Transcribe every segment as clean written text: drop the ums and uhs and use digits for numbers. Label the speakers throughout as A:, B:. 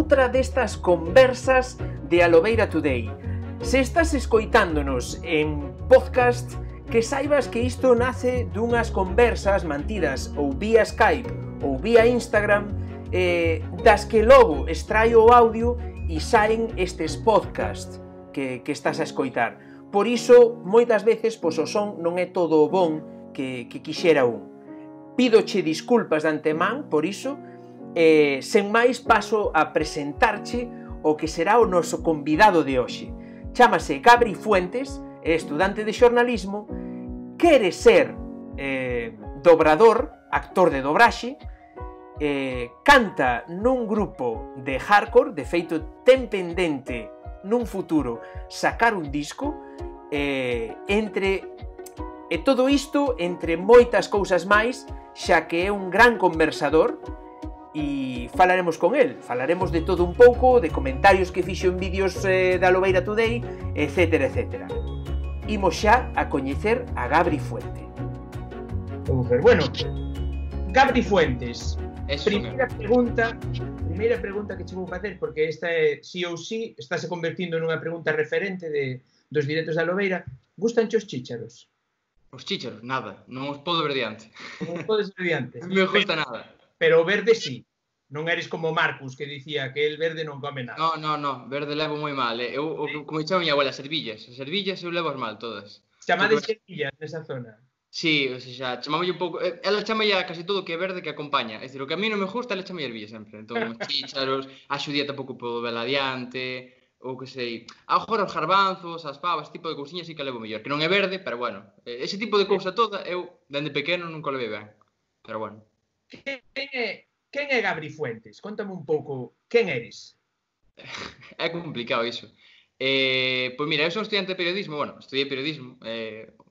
A: outra destas conversas de Alobeira Today. Se estás escoitándonos en podcast, que saibas que isto nace dunhas conversas mantidas ou vía Skype ou vía Instagram, das que logo extraio o audio e saen estes podcast que estás a escoitar. Por iso, moitas veces, pois o son non é todo o bon que quixera un. Pídoche disculpas de antemán por iso, sen máis paso a presentarche o que será o noso convidado de hoxe. Chámase Gabri Fuentes, é estudante de xornalismo, quere ser dobrador, actor de dobraxe, canta nun grupo de hardcore, de feito ten pendente nun futuro sacar un disco, e todo isto entre moitas cousas máis, xa que é un gran conversador, e falaremos con el, falaremos de todo un pouco, de comentarios que fixo en vídeos da Alobeira Today, etcétera, etcétera. Imos xa a coñecer a Gabri Fuente. Bueno, Gabri Fuentes, primeira pregunta que che vou facer, porque esta é sí ou sí, estáse convertindo nunha pregunta referente dos directos da Alobeira. Gústanche os chícharos?
B: Os chícharos, nada, non os podo ver diante.
A: Non os podes ver diante?
B: Non me gusta nada.
A: Pero o verde sí. Non eres como Marcus, que dicía que el verde non come nada.
B: No, verde levo moi mal. Como chama a miña abuela, servillas. As servillas eu levo as mal todas.
A: Chamades servillas nesa zona?
B: Sí, o sea, chamámolle un pouco... Ela chama ya casi todo que é verde que acompaña. É dicir, o que a mí non me gusta, ela chama ervillas sempre. Entón, os chícharos, a xudía tampouco podo vela adiante, ou que sei... Agora os garbanzos, as pavas, tipo de cousiñas sí que levo mellor. Que non é verde, pero bueno. Ese tipo de cousa toda, eu, dende pequeno, nunca o levei ben. Pero bueno.
A: Quen é Gabri Fuentes? Contame un pouco, quen eres?
B: É complicado iso. Pois mira, eu son estudiante de periodismo, bueno, estudiei periodismo,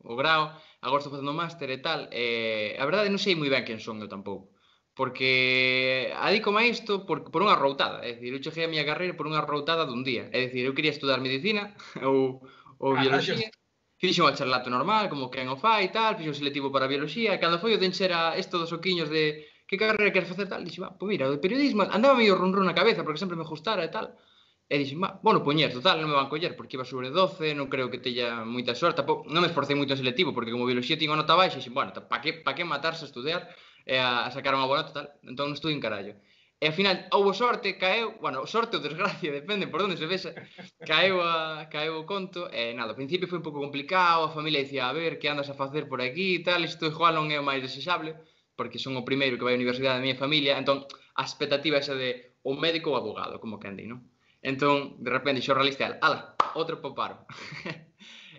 B: o grao, agora estou facendo máster e tal, a verdade non sei moi ben quen son eu tampouco, porque adícome a isto por unha routada, é dicir, eu cheguei a miña carreira por unha routada dun día, é dicir, eu quería estudar medicina ou bioloxía, fixo un bacharelato normal, como quen o fai e tal, fixo un selectivo para bioloxía, e cando foi o de encher isto dos oquiños de que carreira queres facer tal, dixo, pois mira, o de periodismo, andaba medio run na cabeza, porque sempre me gustara e tal, e dixo, bueno, poñer, total, non me van coller, porque iba sobre 12, non creo que teña moita sorte, non me esforcei moito en selectivo, porque como bioloxía tiña nota baixa, dixo, bueno, pa que matarse a estudiar e a sacar unha boa nota, tal, entón non estudio en carallo. E ao final, houve sorte, caeu, bueno, sorte ou desgracia, depende por onde se vexa, caeu o conto, e nada, ao principio foi un pouco complicado, a familia dicía, a ver, que andas a facer por aquí e tal, isto igual non é o máis desexable, porque son o primeiro que vai á universidade da miña familia, entón a expectativa esa de o médico ou abogado, como que andi, non? Entón, de repente, xornalista, ala, outro poparo.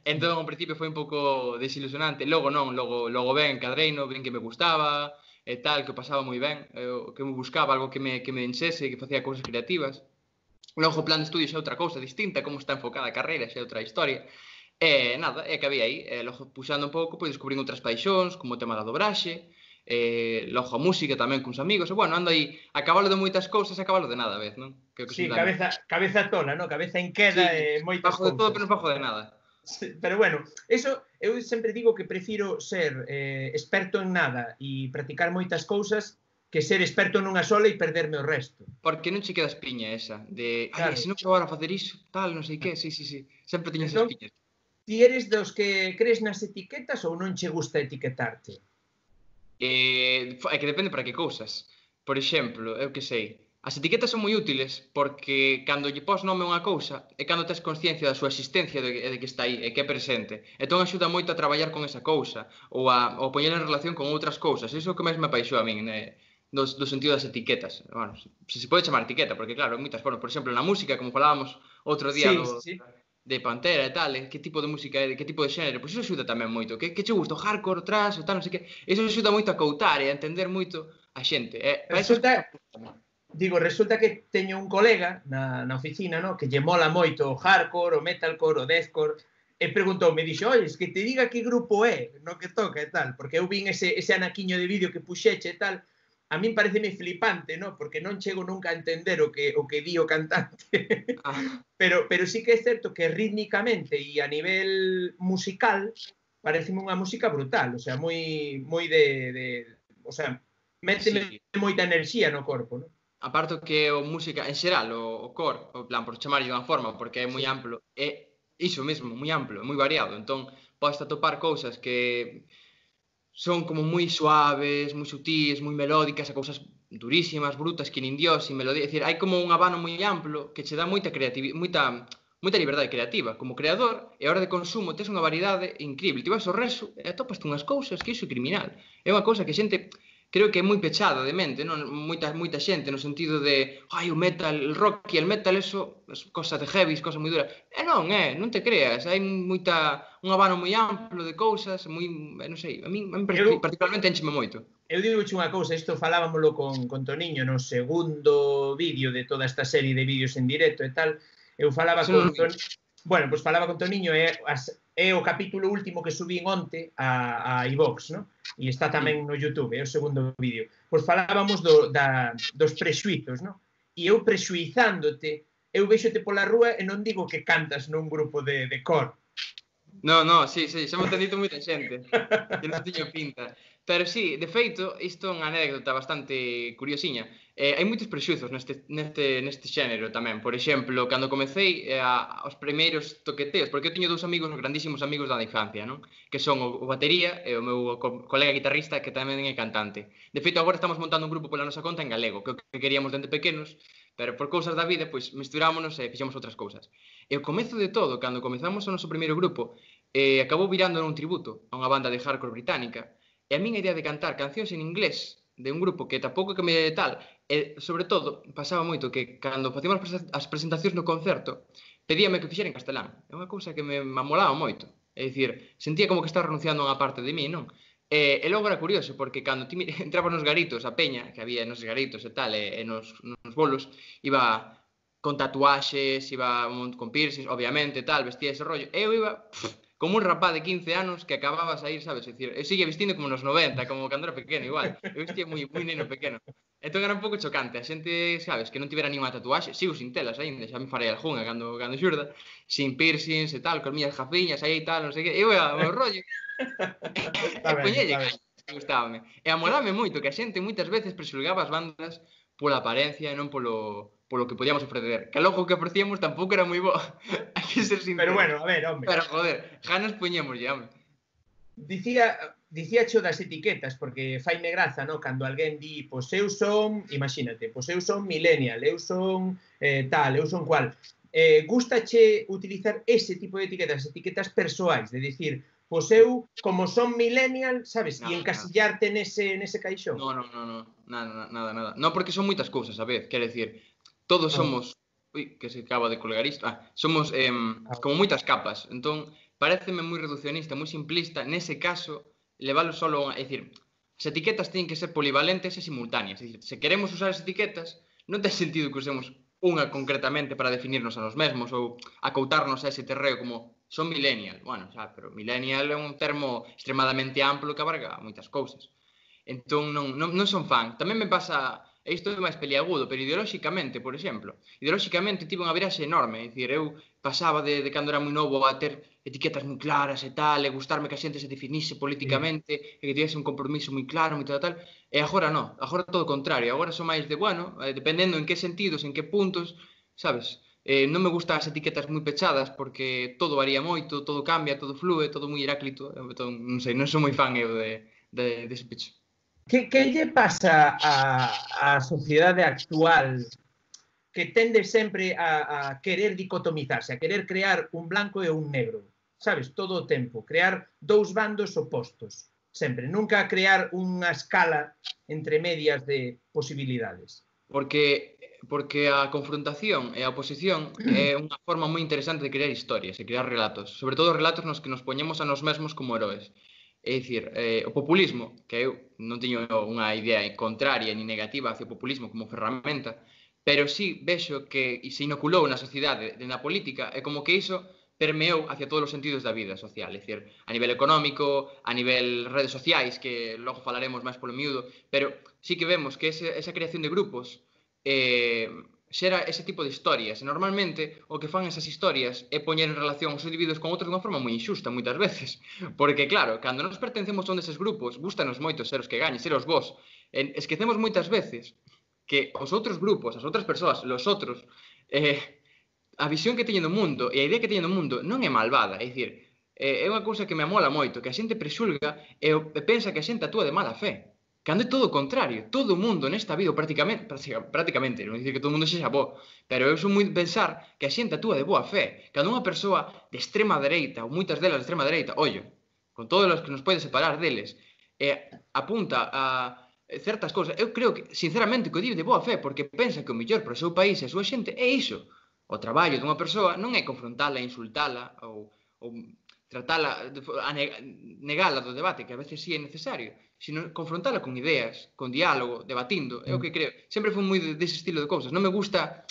B: Entón, ao principio foi un pouco desilusionante, logo non, logo ben, cadreino, ben que me gustaba, e tal, que o pasaba moi ben, que me buscaba algo que me enxese, que facía cousas creativas. Logo o plan de estudio xa é outra cousa distinta, como está enfocada a carreira, xa é outra historia. E nada, é que había aí, logo puxando un pouco, pois descubrín outras paixóns, como o tema da dobraxe, logo a música tamén cuns amigos, e bueno, ando aí a cabalo de moitas cousas e a cabalo de nada a vez, non?
A: Sí, cabeza tola, non? Cabeza en queda e moitas cousas.
B: Bajo de todo, pero non bajo de nada.
A: Sí, pero bueno, eso, eu sempre digo que prefiro ser experto en nada e practicar moitas cousas que ser experto nunha sola e perderme o resto.
B: Porque non che queda espiña esa, de, ai, se non probar a facer iso, tal, non sei que, sí, sempre tiñas espiñas.
A: Ti eres dos que crees nas etiquetas ou non che gusta etiquetarte?
B: É que depende para que cousas. Por exemplo, eu que sei, as etiquetas son moi útiles porque cando lle pos nome a unha cousa é cando tes consciencia da súa existencia de que está aí e que é presente. Entón axuda moito a traballar con esa cousa ou a poñer en relación con outras cousas. Iso é o que máis me apaixoa a min, do sentido das etiquetas. Bueno, se pode chamar etiqueta, porque claro, moitas formas. Por exemplo, na música, como falábamos outro día de Pantera e tal, que tipo de música é, que tipo de xénero, pois iso axuda tamén moito. Que che gusta o hardcore, o thrash, o tal, non sei que. Iso axuda moito a coutar e a entender moito a xente. Resulta
A: que teño un colega na oficina, no, que lle mola moito o hardcore, o metalcore, o deathcore, e preguntoume, dixo, oye, que te diga que grupo é, no que toca e tal, porque eu vin ese anaquiño de vídeo que puxeche e tal. A min pareceme flipante, no? Porque non chego nunca a entender o que di o cantante. Pero sí que é certo que rítmicamente e a nivel musical pareceme unha música brutal, o sea, moi de o sea, méteme moita enerxía no corpo, non?
B: aparto que o música, en xeral, o core, o plan, por chamarlle de unha forma, porque é moi
A: Sí.
B: amplo, é iso mesmo, moi amplo, moi variado. Entón, podes atopar cousas que son como moi suaves, moi sutis, moi melódicas, a cousas durísimas, brutas, que nin Dios, sin melodía. É dicir, hai como un abano moi amplo que che dá moita creatividade, moita liberdade creativa. Como creador, e a hora de consumo, tes unha variedade increíble. Ti vas ao reso e atopas unhas cousas que iso é criminal. É unha cousa que a xente creo que é moi pechada de mente, non? Moita xente no sentido de, ai, o metal, el rock e el metal, eso é cosa de heavy, cosa moi dura. Non te creas, hai un abano moi amplo de cousas, non sei, a min
A: Eu,
B: particularmente encheme moito.
A: eu digo unha cousa, isto falábamoslo con Toniño no segundo vídeo de toda esta serie de vídeos en directo e tal, eu falaba
B: Eso
A: con
B: non vi.
A: Toniño, bueno, pois falaba con Toniño é o capítulo último que subín onte a iVox, no? E está tamén no YouTube, é o segundo vídeo. Pois falábamos dos prexuizos, no? E eu prexuizándote, eu vexote pola rúa e non digo que cantas nun grupo de cor.
B: Sí, xa me ten dito moita xente, que non tiño pinta. Pero sí, de feito, isto é unha anécdota bastante curiosiña. Hai moitos prexuizos neste xénero tamén. Por exemplo, cando comecei os primeiros toqueteos, porque eu teño dous amigos, grandísimos amigos da infancia, non? Que son o batería e o meu colega guitarrista, que tamén é cantante. De feito, agora estamos montando un grupo pola nosa conta en galego, que é o que queríamos dende pequenos, pero por cousas da vida, pois mesturámonos e fixemos outras cousas. E o comezo de todo, cando comezamos o noso primeiro grupo, acabou virando nun tributo a unha banda de hardcore británica, e a miña idea de cantar cancións en inglés de un grupo que tampouco que me tal, e sobre todo pasaba moito que cando facíamos as presentacións no concerto pedíame que fixera en castelán. É unha cousa que me amolaba moito. É dicir, sentía como que estaba renunciando a unha parte de mí, non? E logo era curioso, porque cando ti entrabas nos garitos, a peña que había nos garitos e tal, e nos bolos, iba con tatuaxes, iba con piercings, obviamente, tal, vestía ese rollo. E eu iba como un rapaz de 15 anos que acababa a sair, sabes? É dicir, eu seguía vestindo como nos 90, como cando era pequeno, igual. Eu vestía moi neno pequeno. Entón era un pouco chocante. A xente, sabes, que non tivera ninguna tatuaxe, sigo sin telas aínda, xa me farei algunha cando xurda, sin piercings e tal, con miñas jafiñas aí e tal, non sei que. Eu ia ao meu rollo. E poñelle ganas, gustábame. E amolame moito que a xente moitas veces prexulgaba as bandas pola apariencia e non polo que podíamos ofrecer. Que logo o que ofrecíamos tampouco era moi bo. Hai que ser sincero.
A: Pero bueno, a ver, hombre.
B: Pero joder, ganas poñemos ya, hombre.
A: Dicía cho das etiquetas, porque faime graza, no? Cando alguén di, pois eu son, imagínate, pois eu son millennial, eu son tal, eu son cual. Gustache utilizar ese tipo de etiquetas persoais, de dicir, pois eu, como son millennial, sabes, e encasillarte nese caixón.
B: Nada. Non, porque son moitas cousas, a vez, quero dicir, todos somos, que se acaba de colgar isto, somos como moitas capas, entón, pareceme moi reduccionista, moi simplista, nese caso, leválo solo a... É dicir, as etiquetas teñen que ser polivalentes e simultáneas. É dicir, se queremos usar as etiquetas, non ten sentido que usemos unha concretamente para definirnos a nos mesmos ou acoutarnos a ese terreo como son millennial. Bueno, xa, pero millennial é un termo extremadamente amplo que abarca moitas cousas. Entón non son fan. Tamén me pasa, e isto é máis peliagudo, pero ideolóxicamente, por exemplo, ideolóxicamente tive unha viraxe enorme, é dicir, eu pasaba de cando era moi novo a ter etiquetas moi claras e tal, e gustarme que a xente se definise políticamente, e que tivese un compromiso moi claro, moi tal, e agora non, agora todo o contrario, agora son máis de, bueno, dependendo en que sentidos, en que puntos, sabes, non me gustan as etiquetas moi pechadas, porque todo varía moito, todo cambia, todo flúe, todo moi heráclito, entón, non sei, non sou moi fan eu dese pecho.
A: Que lle pasa á sociedade actual que tende sempre a querer dicotomizarse, a querer crear un blanco e un negro, sabes, todo o tempo, crear dous bandos opostos, sempre, nunca crear unha escala entre medias de posibilidades.
B: Porque a confrontación e a oposición é unha forma moi interesante de crear historias e crear relatos, sobre todo relatos nos que nos poñemos a nos mesmos como heróis. É dicir, o populismo, que eu non teño unha idea contraria ni negativa hacia o populismo como ferramenta, pero sí vexo que se inoculou na sociedade e na política, é como que iso permeou hacia todos os sentidos da vida social, é dicir, a nivel económico, a nivel redes sociais, que logo falaremos máis polo miúdo, pero sí que vemos que esa creación de grupos xera ese tipo de historias, e normalmente o que fan esas historias é poñer en relación os individuos con outros dunha forma moi injusta moitas veces, porque claro, cando nos pertencemos a un deses grupos, gustanos moito ser os que gañen, ser os vos, esquecemos moitas veces que os outros grupos, as outras persoas, los outros, a visión que teñen do mundo e a idea que teñen do mundo non é malvada, é dicir, é unha cousa que me amola moito, que a xente prexulga e pensa que a xente actúa de mala fe. Cando é todo o contrario, todo o mundo nesta vida, prácticamente, non dicir que todo o mundo sexa bo, pero eu son moi pensar que a xente actúa de boa fe. Cando unha persoa de extrema dereita, ou moitas delas de extrema dereita, ollo, con todos os que nos pode separar deles, apunta a certas cousas, eu creo que, sinceramente, que o di de boa fe, porque pensa que o mellor para o seu país e a súa xente é iso. O traballo dunha persoa non é confrontala, insultala ou tratala, negala do debate, que a veces sí é necesario, sino confrontala con ideas, con diálogo, debatindo, é o que creo. Sempre foi moi dese estilo de cousas. Non me gusta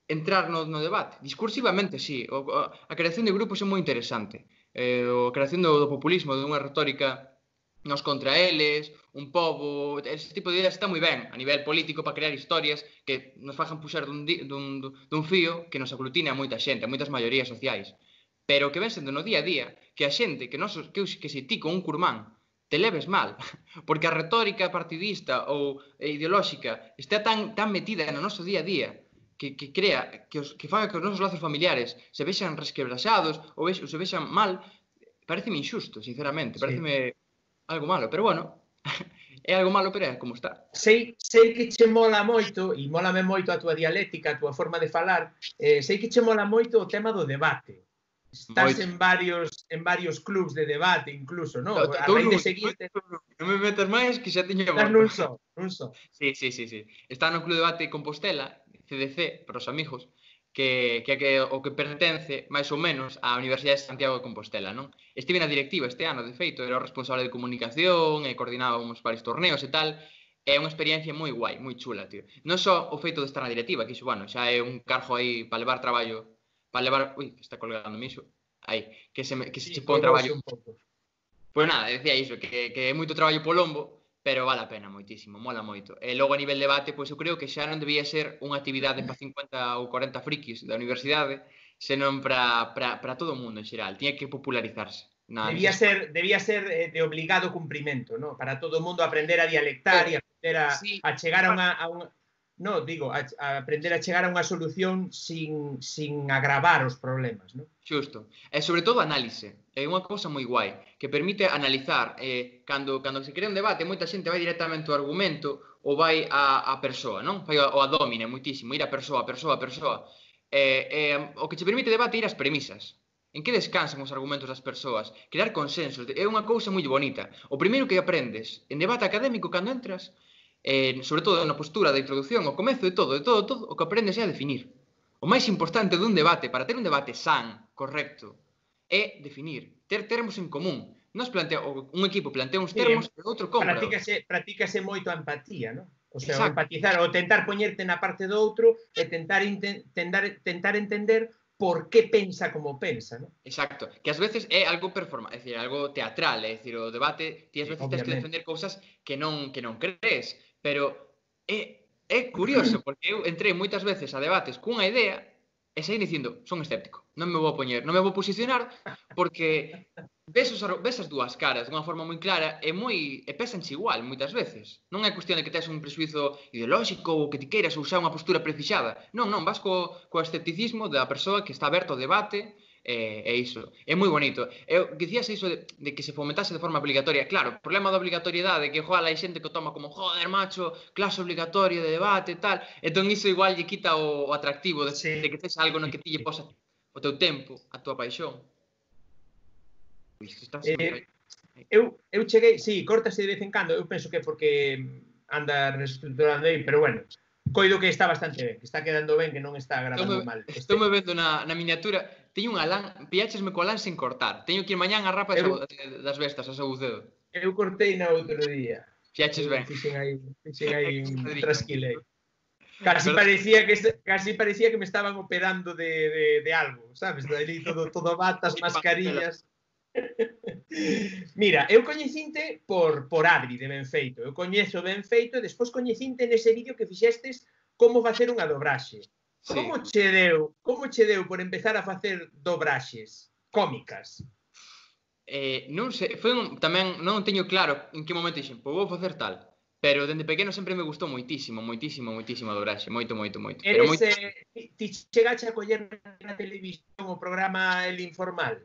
B: entrar no debate. Discursivamente, sí. A creación de grupos é moi interesante. A creación do populismo, de unha retórica nos contra eles, un pobo, ese tipo de ideas está moi ben a nivel político para crear historias que nos fajan puxar dun fío que nos aglutine a moita xente, a moitas maiorías sociais. Pero que ven sendo no día a día que a xente, que se ti con un curmán te leves mal, porque a retórica partidista ou ideolóxica está tan metida no noso día a día que crea, que faga que os nosos lazos familiares se vexan resquebraxados ou se vexan mal, pareceme injusto, sinceramente, pareceme algo malo, pero bueno, é algo malo, pero é como está.
A: Sei que che mola moito, e mólame moito a túa dialéctica, a túa forma de falar, sei que che mola moito o tema do debate. Estás en varios clubs de debate, incluso, non? A raíz de seguinte...
B: Non me metas máis, que xa teño...
A: Estás nun só.
B: Sí. Está no Club de Debate Compostela, CDC, para os amigos, que o que pertence, máis ou menos, á Universidade de Santiago de Compostela, non? Estive na directiva este ano, de feito, era o responsable de comunicación, e coordinábamos varios torneos e tal, é unha experiencia moi guai, moi chula, tío. Non só o feito de estar na directiva, que iso, bueno, xa é un cargo aí para levar traballo, para levar... Ui, está colgándome iso. Aí, que se che pon traballo... Pois nada, decía iso, que é moito traballo po lombo, pero vale a pena moitísimo, mola moito. E logo a nivel debate, pois eu creo que xa non debía ser unha actividade para 50 ou 40 frikis da universidade, senón para todo o mundo en xeral. Tiña que popularizarse.
A: Debía ser de obligado cumprimento, ¿no? Para todo o mundo aprender a dialectar e aprender a chegar a unha no, digo, a aprender a chegar a unha solución sin agravar os problemas, ¿no?
B: Xusto. E sobre todo análise. É unha cousa moi guai, que permite analizar. Cando se crea un debate, moita xente vai directamente ao argumento ou vai á persoa, non? Vai ao domine moitísimo, ir a persoa. O que che permite debate ir ás premisas. En que descansan os argumentos das persoas? Crear consensos. É unha cousa moi bonita. O primeiro que aprendes en debate académico cando entras, sobre todo na postura da introducción, ao comezo de todo, o que aprendes é a definir. O máis importante dun debate, para ter un debate san, correcto, é definir, ter termos en común. Un equipo plantea uns termos e outro compra.
A: Practícase moito a empatía, non? O sea, o empatizar, o tentar poñerte na parte do outro e tentar entender por que pensa como pensa, non?
B: Exacto, que ás veces é algo performance, é dicir, algo teatral, é dicir, o debate, ti ás veces tens que defender cousas que non crees, pero é curioso, porque eu entrei moitas veces a debates cunha idea e saí dicindo, son escéptico, non me vou posicionar, porque ves as dúas caras dunha forma moi clara e pésanche igual moitas veces. Non é cuestión de que tes un presuizo ideolóxico ou que ti queiras usar unha postura prefixada. Non, vas co escepticismo da persoa que está aberta ao debate e iso. É moi bonito. Dicías iso de que se fomentase de forma obligatoria. Claro, o problema da obligatoriedade é que igual hai xente que o toma como joder, macho, clase obligatoria de debate e tal. Entón iso igual lle quita o atractivo de que tes algo no que ti lle posa o teu tempo, a tua paixón.
A: Eu cheguei, córtase de vez en cando, eu penso que porque anda reestructurando aí, pero bueno, coido que está bastante ben, que está quedando ben, que non está grabando mal.
B: Estou me vendo na miniatura, teño unha lán, pilláchesme coa lán sen cortar, teño que ir mañán a rapa das vestas, a Sabucedo.
A: Eu cortei na outro día.
B: Piaches ben.
A: Fixen aí un trasquilei. Casi parecía que me estaban operando de algo, sabes? Daí todo batas, mascarillas... Mira, eu coñecinte por Adri de Benfeito. Eu coñezo Benfeito e despois coñecinte nese vídeo que fixestes como facer unha dobraxe. Como che deu por empezar a facer dobraxes cómicas?
B: Non sei, tamén non teño claro en que momento dixen, pois vou facer tal. Pero dende pequeno sempre me gustou moitísimo a dobraxe, moito. Pero
A: Eres,
B: moito.
A: ti chegache a coller na televisión o programa El Informal?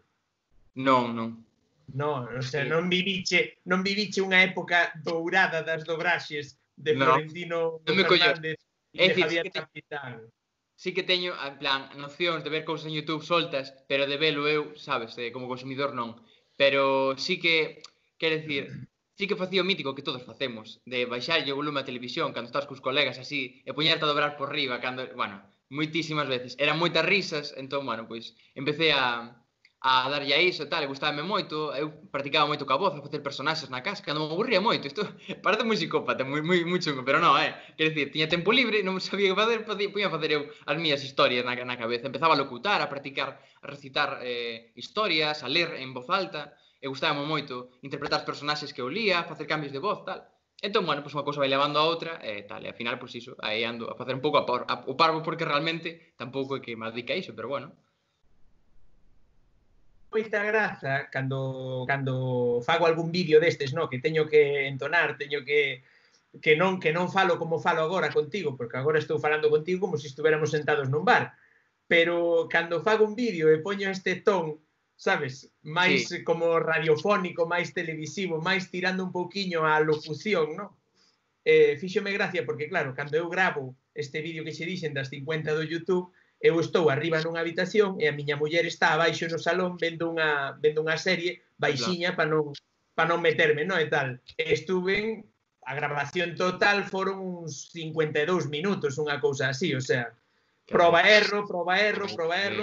B: Non.
A: Non, o sea, non viviche unha época dourada das dobraxes de
B: Non,
A: Florentino
B: non me colleu.
A: Fernández e
B: É
A: de
B: dicir,
A: Javier Capitán.
B: sí que teño, en plan, nocións de ver cousas en YouTube soltas, pero de velo eu, sabes, como consumidor non. Pero sí que, quero dicir, sí que facía o mítico que todos facemos, de baixarlle o volume á televisión cando estás cos colegas así, e poñerte a dobrar por riba, cando, bueno, moitísimas veces. Eran moitas risas, entón, bueno, pois, empecé a darlle a iso e tal, e gustábame moito, eu practicaba moito ca voz, a facer personaxes na casa, cando me aburría moito, isto parece moi psicópata, moi chungo, pero non, quero dicir, tiña tempo libre, non sabía que facer, poña a facer eu as miñas historias na cabeza, empezaba a locutar, a practicar, a recitar historias, a ler en voz alta, e gustábame moito interpretar os personaxes que eu lía, facer cambios de voz, tal. Entón, bueno, pois unha cousa vai levando a outra, e tal, e ao final, pois iso, aí ando a facer un pouco o parvo, porque realmente tampouco é que me dedica a iso, pero bueno.
A: Moita graza cando fago algún vídeo destes, no, que teño que entonar, teño que non falo como falo agora contigo, porque agora estou falando contigo como se estuviéramos sentados nun bar. Pero cando fago un vídeo e poño este ton, sabes, máis
B: Sí.
A: como radiofónico, máis televisivo, máis tirando un pouquiño á locución, no? Fíxome gracia porque, claro, cando eu gravo este vídeo que che dixen das 50 do YouTube, eu estou arriba nunha habitación e a miña muller está abaixo no salón vendo unha serie baixiña para non meterme, no, e tal. Estuven, a grabación total foron uns 52 minutos, unha cousa así, o sea, proba erro,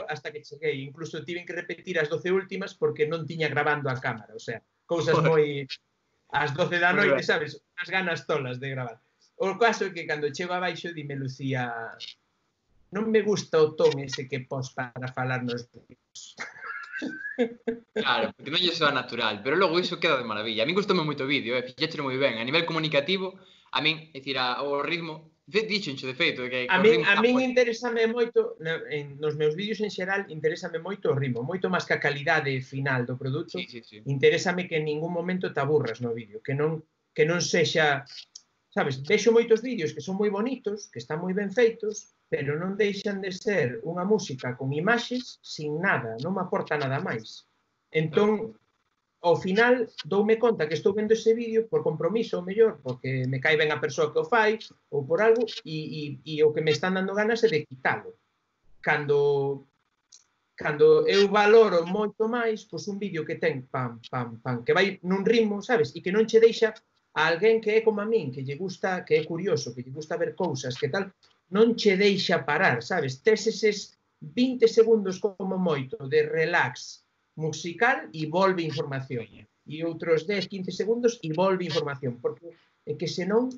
A: hasta que cheguei. Incluso tiven que repetir as 12 últimas porque non tiña grabando a cámara, o sea, cousas moi... ás 12 da noite, sabes, unhas ganas tolas de gravar. O caso é que cando chego abaixo, dime Lucía, non me gusta o ton ese que pos para falar nos vídeos.
B: Claro, porque non lle soa natural, pero logo iso queda de maravilla. A min gustoume moito o vídeo, fixéchelo moi ben. A nivel comunicativo, a min, é dicir, o ritmo, dixencho de feito, que
A: A
B: o ritmo...
A: min interésame moito, nos meus vídeos en xeral, interésame moito o ritmo, moito máis que a calidade final do produto.
B: Sí.
A: Interésame que en ningún momento te aburras no vídeo, que non sexa, sabes, vexo moitos vídeos que son moi bonitos, que están moi ben feitos, pero non deixan de ser unha música con imaxes sin nada, non me aporta nada máis. Entón, ao final, doume conta que estou vendo ese vídeo por compromiso, ou mellor, porque me cae ben a persoa que o fai, ou por algo, e o que me están dando ganas é de quitalo. Cando eu valoro moito máis, pois un vídeo que ten pam, que vai nun ritmo, sabes, e que non che deixa a alguén que é como a min, que lle gusta, que é curioso, que lle gusta ver cousas, que tal, non che deixa parar, sabes? Tes eses 20 segundos como moito de relax musical e volve información. E outros 10, 15 segundos e volve información. Porque é que senón,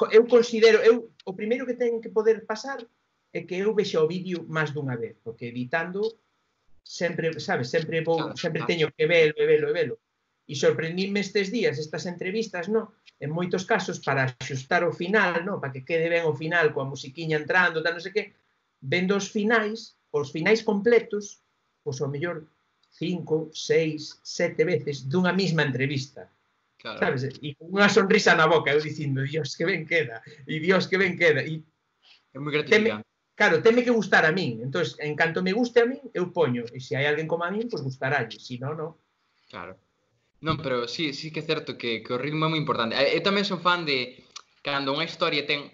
A: eu considero, o primeiro que ten que poder pasar é que eu vexa o vídeo máis dunha vez, porque editando sempre, sabes, sempre teño que velo. E sorprendíme estes días, estas entrevistas, no? En moitos casos, para axustar o final, no? Para que quede ben o final, coa musiquiña entrando, tal, non sei que, vendo os finais completos, pois ao mellor 5, 6, 7 veces dunha mesma entrevista. Claro. Sabes? E con unha sonrisa na boca, eu dicindo, Dios, que ben queda, e Dios, que ben queda. E
B: é moi gratificante.
A: Claro, teme que gustar a min. Entón, en canto me guste a min, eu poño. E se hai alguén como a min, pois gustaralle. Se non, non.
B: Claro. Non, pero sí que é certo que o ritmo é moi importante. Eu tamén son fan de cando unha historia ten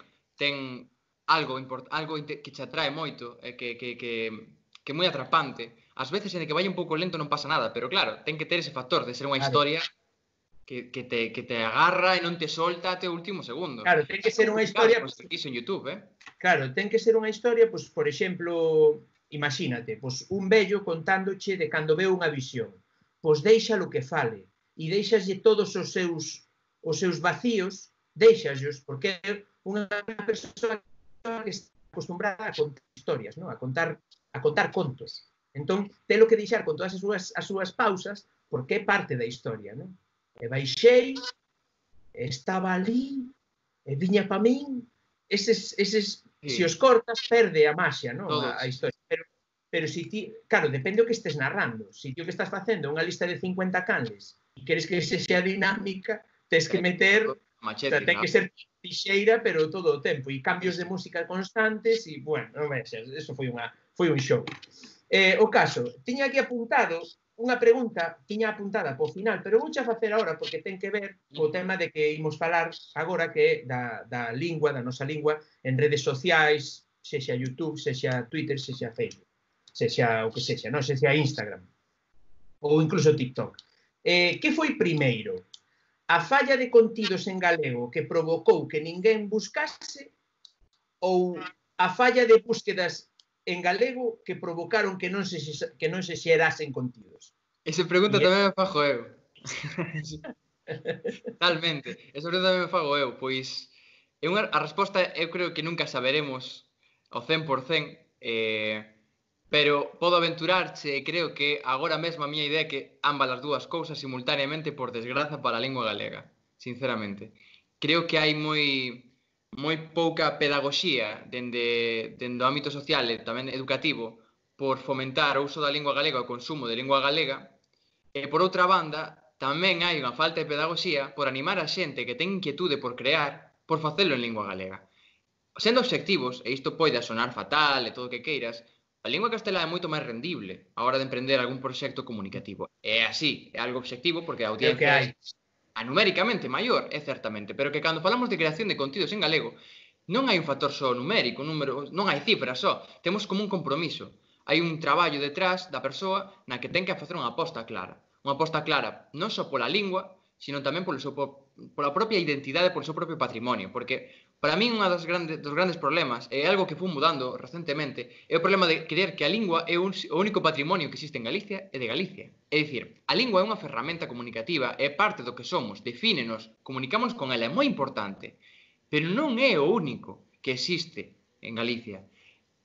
B: algo que te atrae moito, que é moi atrapante. Ás veces, en que vai un pouco lento non pasa nada, pero claro, ten que ter ese factor de ser unha historia que te agarra e non te solta até o último segundo.
A: Claro, ten que ser unha historia...
B: Iso en YouTube,
A: Claro, ten que ser unha historia, pois, por exemplo, imagínate, pois, un vello contándoche de cando veu unha visión. Pois déixalo que fale. E deixaslle todos os seus vacíos, deixaslos, porque é unha persoa que está acostumbrada a contar historias, ¿no? a contar contos. Entón, telo que deixar con todas as súas pausas, porque é parte da historia, ¿no? E baixei, estaba ali, e viña pa min, eses se os cortas, perde a maxia, ¿no? A historia. Pero si ti, claro, depende o que estés narrando. Si ti o que estás facendo unha lista de 50 canles e queres que sexa dinámica, tens que meter
B: Machete,
A: sea, ten que ser tixeira, pero todo o tempo, e cambios de música constantes, e, bueno, non vexas, eso foi un show. O caso, tiña aquí apuntado unha pregunta, tiña apuntada po final, pero vouche a facer agora porque ten que ver co tema de que imos falar agora que é da lingua, da nosa lingua, en redes sociais, sexa YouTube, sexa Twitter, sexa Facebook, sexa o que sexa, non? Sexa Instagram, ou incluso TikTok. Que foi primeiro? A falla de contidos en galego que provocou que ninguén buscase ou a falla de búsquedas en galego que provocaron que non se xerasen contidos?
B: Esa pregunta tamén me fago eu. Totalmente. Esa pregunta tamén me fago eu, pois a resposta eu creo que nunca saberemos ao 100%, pero podo aventurarche e creo que agora mesmo a miña idea é que ambas as dúas cousas simultaneamente por desgraza para a lingua galega, sinceramente. Creo que hai moi pouca pedagogía dende o ámbito social e tamén educativo por fomentar o uso da lingua galega e o consumo de lingua galega, e por outra banda tamén hai unha falta de pedagogía por animar a xente que ten inquietude por crear por facelo en lingua galega. Sendo obxectivos, e isto pode sonar fatal e todo o que queiras, a lingua castelá é moito máis rendible a hora de emprender algún proxecto comunicativo. É así, é algo obxectivo porque a audiencia é numéricamente maior, é certamente, pero que cando falamos de creación de contidos en galego, non hai un factor só numérico, non hai cifras só, temos como un compromiso. Hai un traballo detrás da persoa na que ten que facer unha aposta clara. Unha aposta clara non só pola lingua, sino tamén pola propia identidade, polo seu propio patrimonio, porque para min un dos grandes problemas, é algo que foi mudando recentemente, é o problema de creer que a lingua é o único patrimonio que existe en Galicia e de Galicia. É dicir, a lingua é unha ferramenta comunicativa, é parte do que somos, defínenos, comunicamos con ela, é moi importante, pero non é o único que existe en Galicia.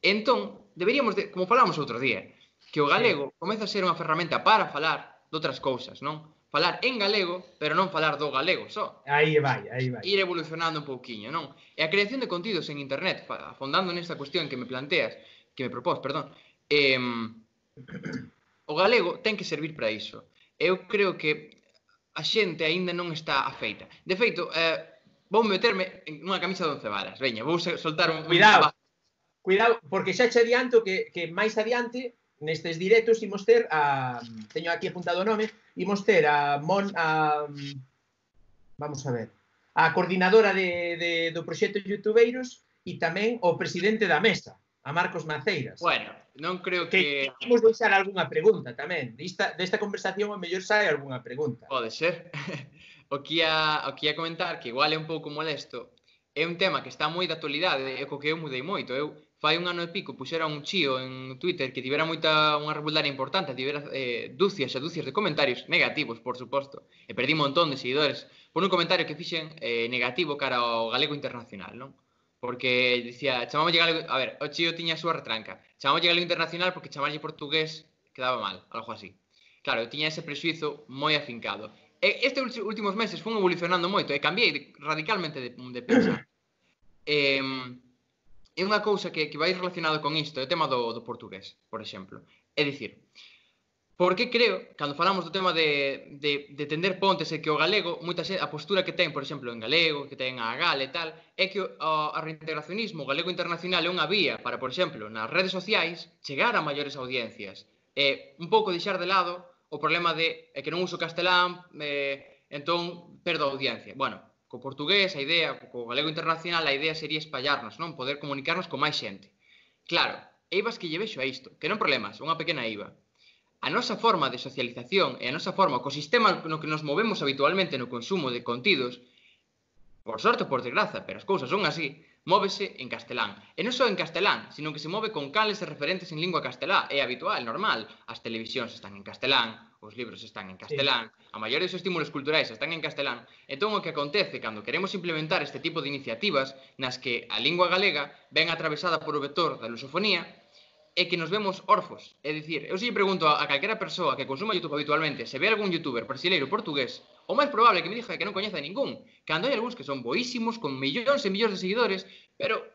B: Entón, deberíamos, como falamos outro día, que o galego comeza a ser unha ferramenta para falar de outras cousas, non? Falar en galego, pero non falar do galego só.
A: Aí vai.
B: Ir evolucionando un pouquiño, non? E a creación de contidos en internet, afondando nesta cuestión que me planteas, que me propós, perdón, o galego ten que servir para iso. Eu creo que a xente aínda non está afeita. De feito, vou meterme en unha camisa de 11 varas. Veña, vou soltar un...
A: Cuidado, porque xa che adianto que máis adiante nestes directos imos ter teño aquí apuntado o nome, imos ter vamos a ver, a coordinadora do proxecto Youtubeiros e tamén o presidente da mesa, a Marcos Maceiras.
B: Bueno, non creo que...
A: Imos deixar algunha pregunta tamén. Desta conversación o mellor sai algunha pregunta.
B: Pode ser. O que ia comentar, que igual é un pouco molesto, é un tema que está moi de actualidade e co que eu mudei moito. Eu fai un ano e pico puxera un chío en Twitter que tivera unha rebuldaria importante, tivera dúcias e dúcias de comentarios negativos, por suposto, e perdí un montón de seguidores por un comentario que fixen negativo cara ao galego internacional, non? Porque dicía, chamámolle galego... A ver, o chío tiña a súa retranca. Chamámolle galego internacional porque chamarlle portugués quedaba mal, algo así. Claro, eu tiña ese prexuizo moi afincado. E estes últimos meses fun evolucionando moito e cambiei radicalmente de pensar. É unha cousa que vai relacionado con isto, o tema do portugués, por exemplo. É dicir, porque creo, cando falamos do tema de tender pontes e que o galego, a postura que ten, por exemplo, en galego, que ten a gal e tal, é que o reintegracionismo, o galego internacional é unha vía para, por exemplo, nas redes sociais, chegar a maiores audiencias. E un pouco deixar de lado o problema de que non uso castelán, entón perdo a audiencia. Bueno, co portugués, a idea, co galego internacional, a idea sería espallarnos, non? Poder comunicarnos con máis xente. Claro, eivas que lle vexo a isto, que non problemas, unha pequena eiva. A nosa forma de socialización e a nosa forma, o ecosistema no que nos movemos habitualmente no consumo de contidos, por sorte ou por desgraza, pero as cousas son así, móvese en castelán. E non só en castelán, sino que se move con canles e referentes en lingua castelá. É habitual, normal. As televisións están en castelán, os libros están en castelán, a maioría dos estímulos culturais están en castelán. Entón, o que acontece cando queremos implementar este tipo de iniciativas nas que a lingua galega ven atravesada por o vector da lusofonía, é que nos vemos orfos. É dicir, eu se lle pregunto a calquera persoa que consuma YouTube habitualmente se ve algún youtuber brasileiro portugués, o máis probable que me diga que non coñece a ningún, cando hai algúns que son boísimos, con millóns e millóns de seguidores, pero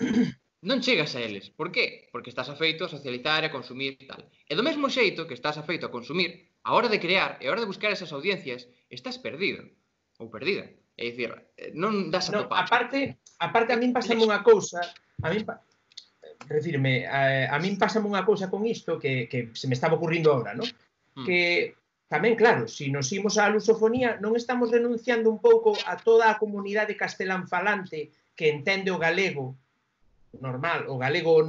B: non chegas a eles. Por qué? Porque estás afeito a socializar e a consumir tal. E do mesmo xeito que estás afeito a consumir, a hora de crear e a hora de buscar esas audiencias, estás perdido ou perdida. É dicir, non das a
A: No,
B: topar.
A: aparte a min pásame unha cousa, a min a min pásame unha cousa con isto que se me estaba ocurrindo agora, ¿no? Que tamén, claro, se nos imos á lusofonía, non estamos renunciando un pouco a toda a comunidade castelán falante que entende o galego normal, o galego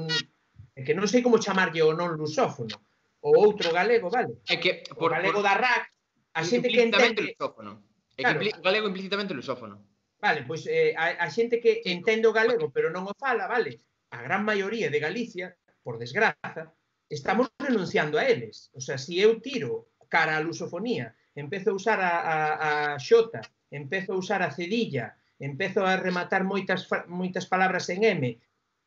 A: que non sei como chamarlle o non lusófono, o outro galego, vale?
B: É que
A: O galego da RAC, a xente que
B: implícitamente
A: entende...
B: lusófono. É que
A: Claro,
B: o galego implícitamente lusófono.
A: vale, pois a xente que
B: Sí.
A: entende o galego pero non o fala, vale? A gran maioría de Galicia, por desgraza, estamos renunciando a eles. O sea, se eu tiro cara a lusofonía, empezo a usar a xota, empezo a usar a cedilla, empezo a rematar moitas palabras en M,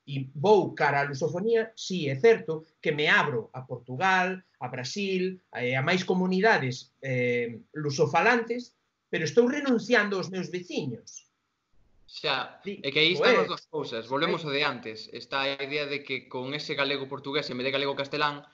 A: e vou cara a lusofonía, sí, é certo que me abro a Portugal, a Brasil, a máis comunidades lusofalantes, pero estou renunciando aos meus veciños.
B: Xa, é que aí están as dúas cousas, volvemos ao de antes. Está a idea de que con ese galego portugués en vez de galego castelán,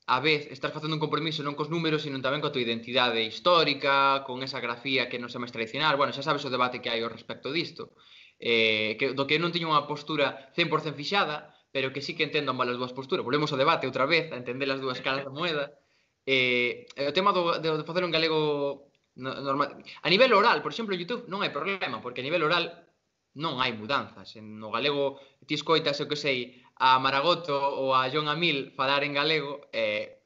B: a vez estás facendo un compromiso non cos números, sino tamén coa tua identidade histórica, con esa grafía que non é máis tradicional. Bueno, xa sabes o debate que hai ao respecto disto. Do que non teño unha postura 100% fixada, pero que sí que entendo ambas as dúas posturas. Volvemos ao debate outra vez, a entender as dúas caras da moeda. O tema de facer un galego normal. A nivel oral, por exemplo, en YouTube non hai problema, porque a nivel oral non hai mudanzas. No galego ti escoitas, eu que sei, a Maragoto ou a John Amil falar en galego,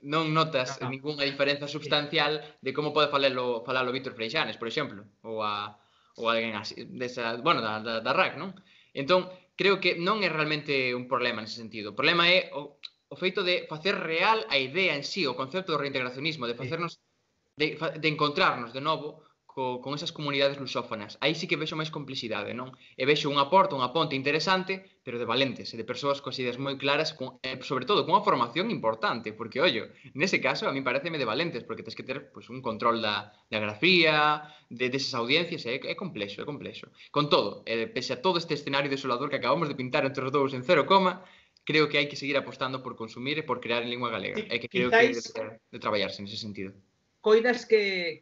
B: non notas ningunha diferenza substancial de como pode falalo Víctor Freixanes, por exemplo, ou alguén así, bueno, da RAC, non? Entón, creo que non é realmente un problema nese sentido. O problema é o feito de facer real a idea en sí, o concepto do reintegracionismo, de facernos, de encontrarnos de novo con esas comunidades lusófonas. Aí sí que vexo máis complexidade, non? E vexo unha ponte interesante, pero de valentes, e de persoas coas ideas moi claras, sobre todo con unha formación importante, porque, ollo, nese caso, a mí pareceme de valentes, porque tens que ter un control da grafía, desas audiencias, é complexo, é complexo. Con todo, pese a todo este escenario desolador que acabamos de pintar entre os dous en 0, creo que hai que seguir apostando por consumir e por crear en lingua galega. É que creo que de traballarse nese sentido.
A: Coidas que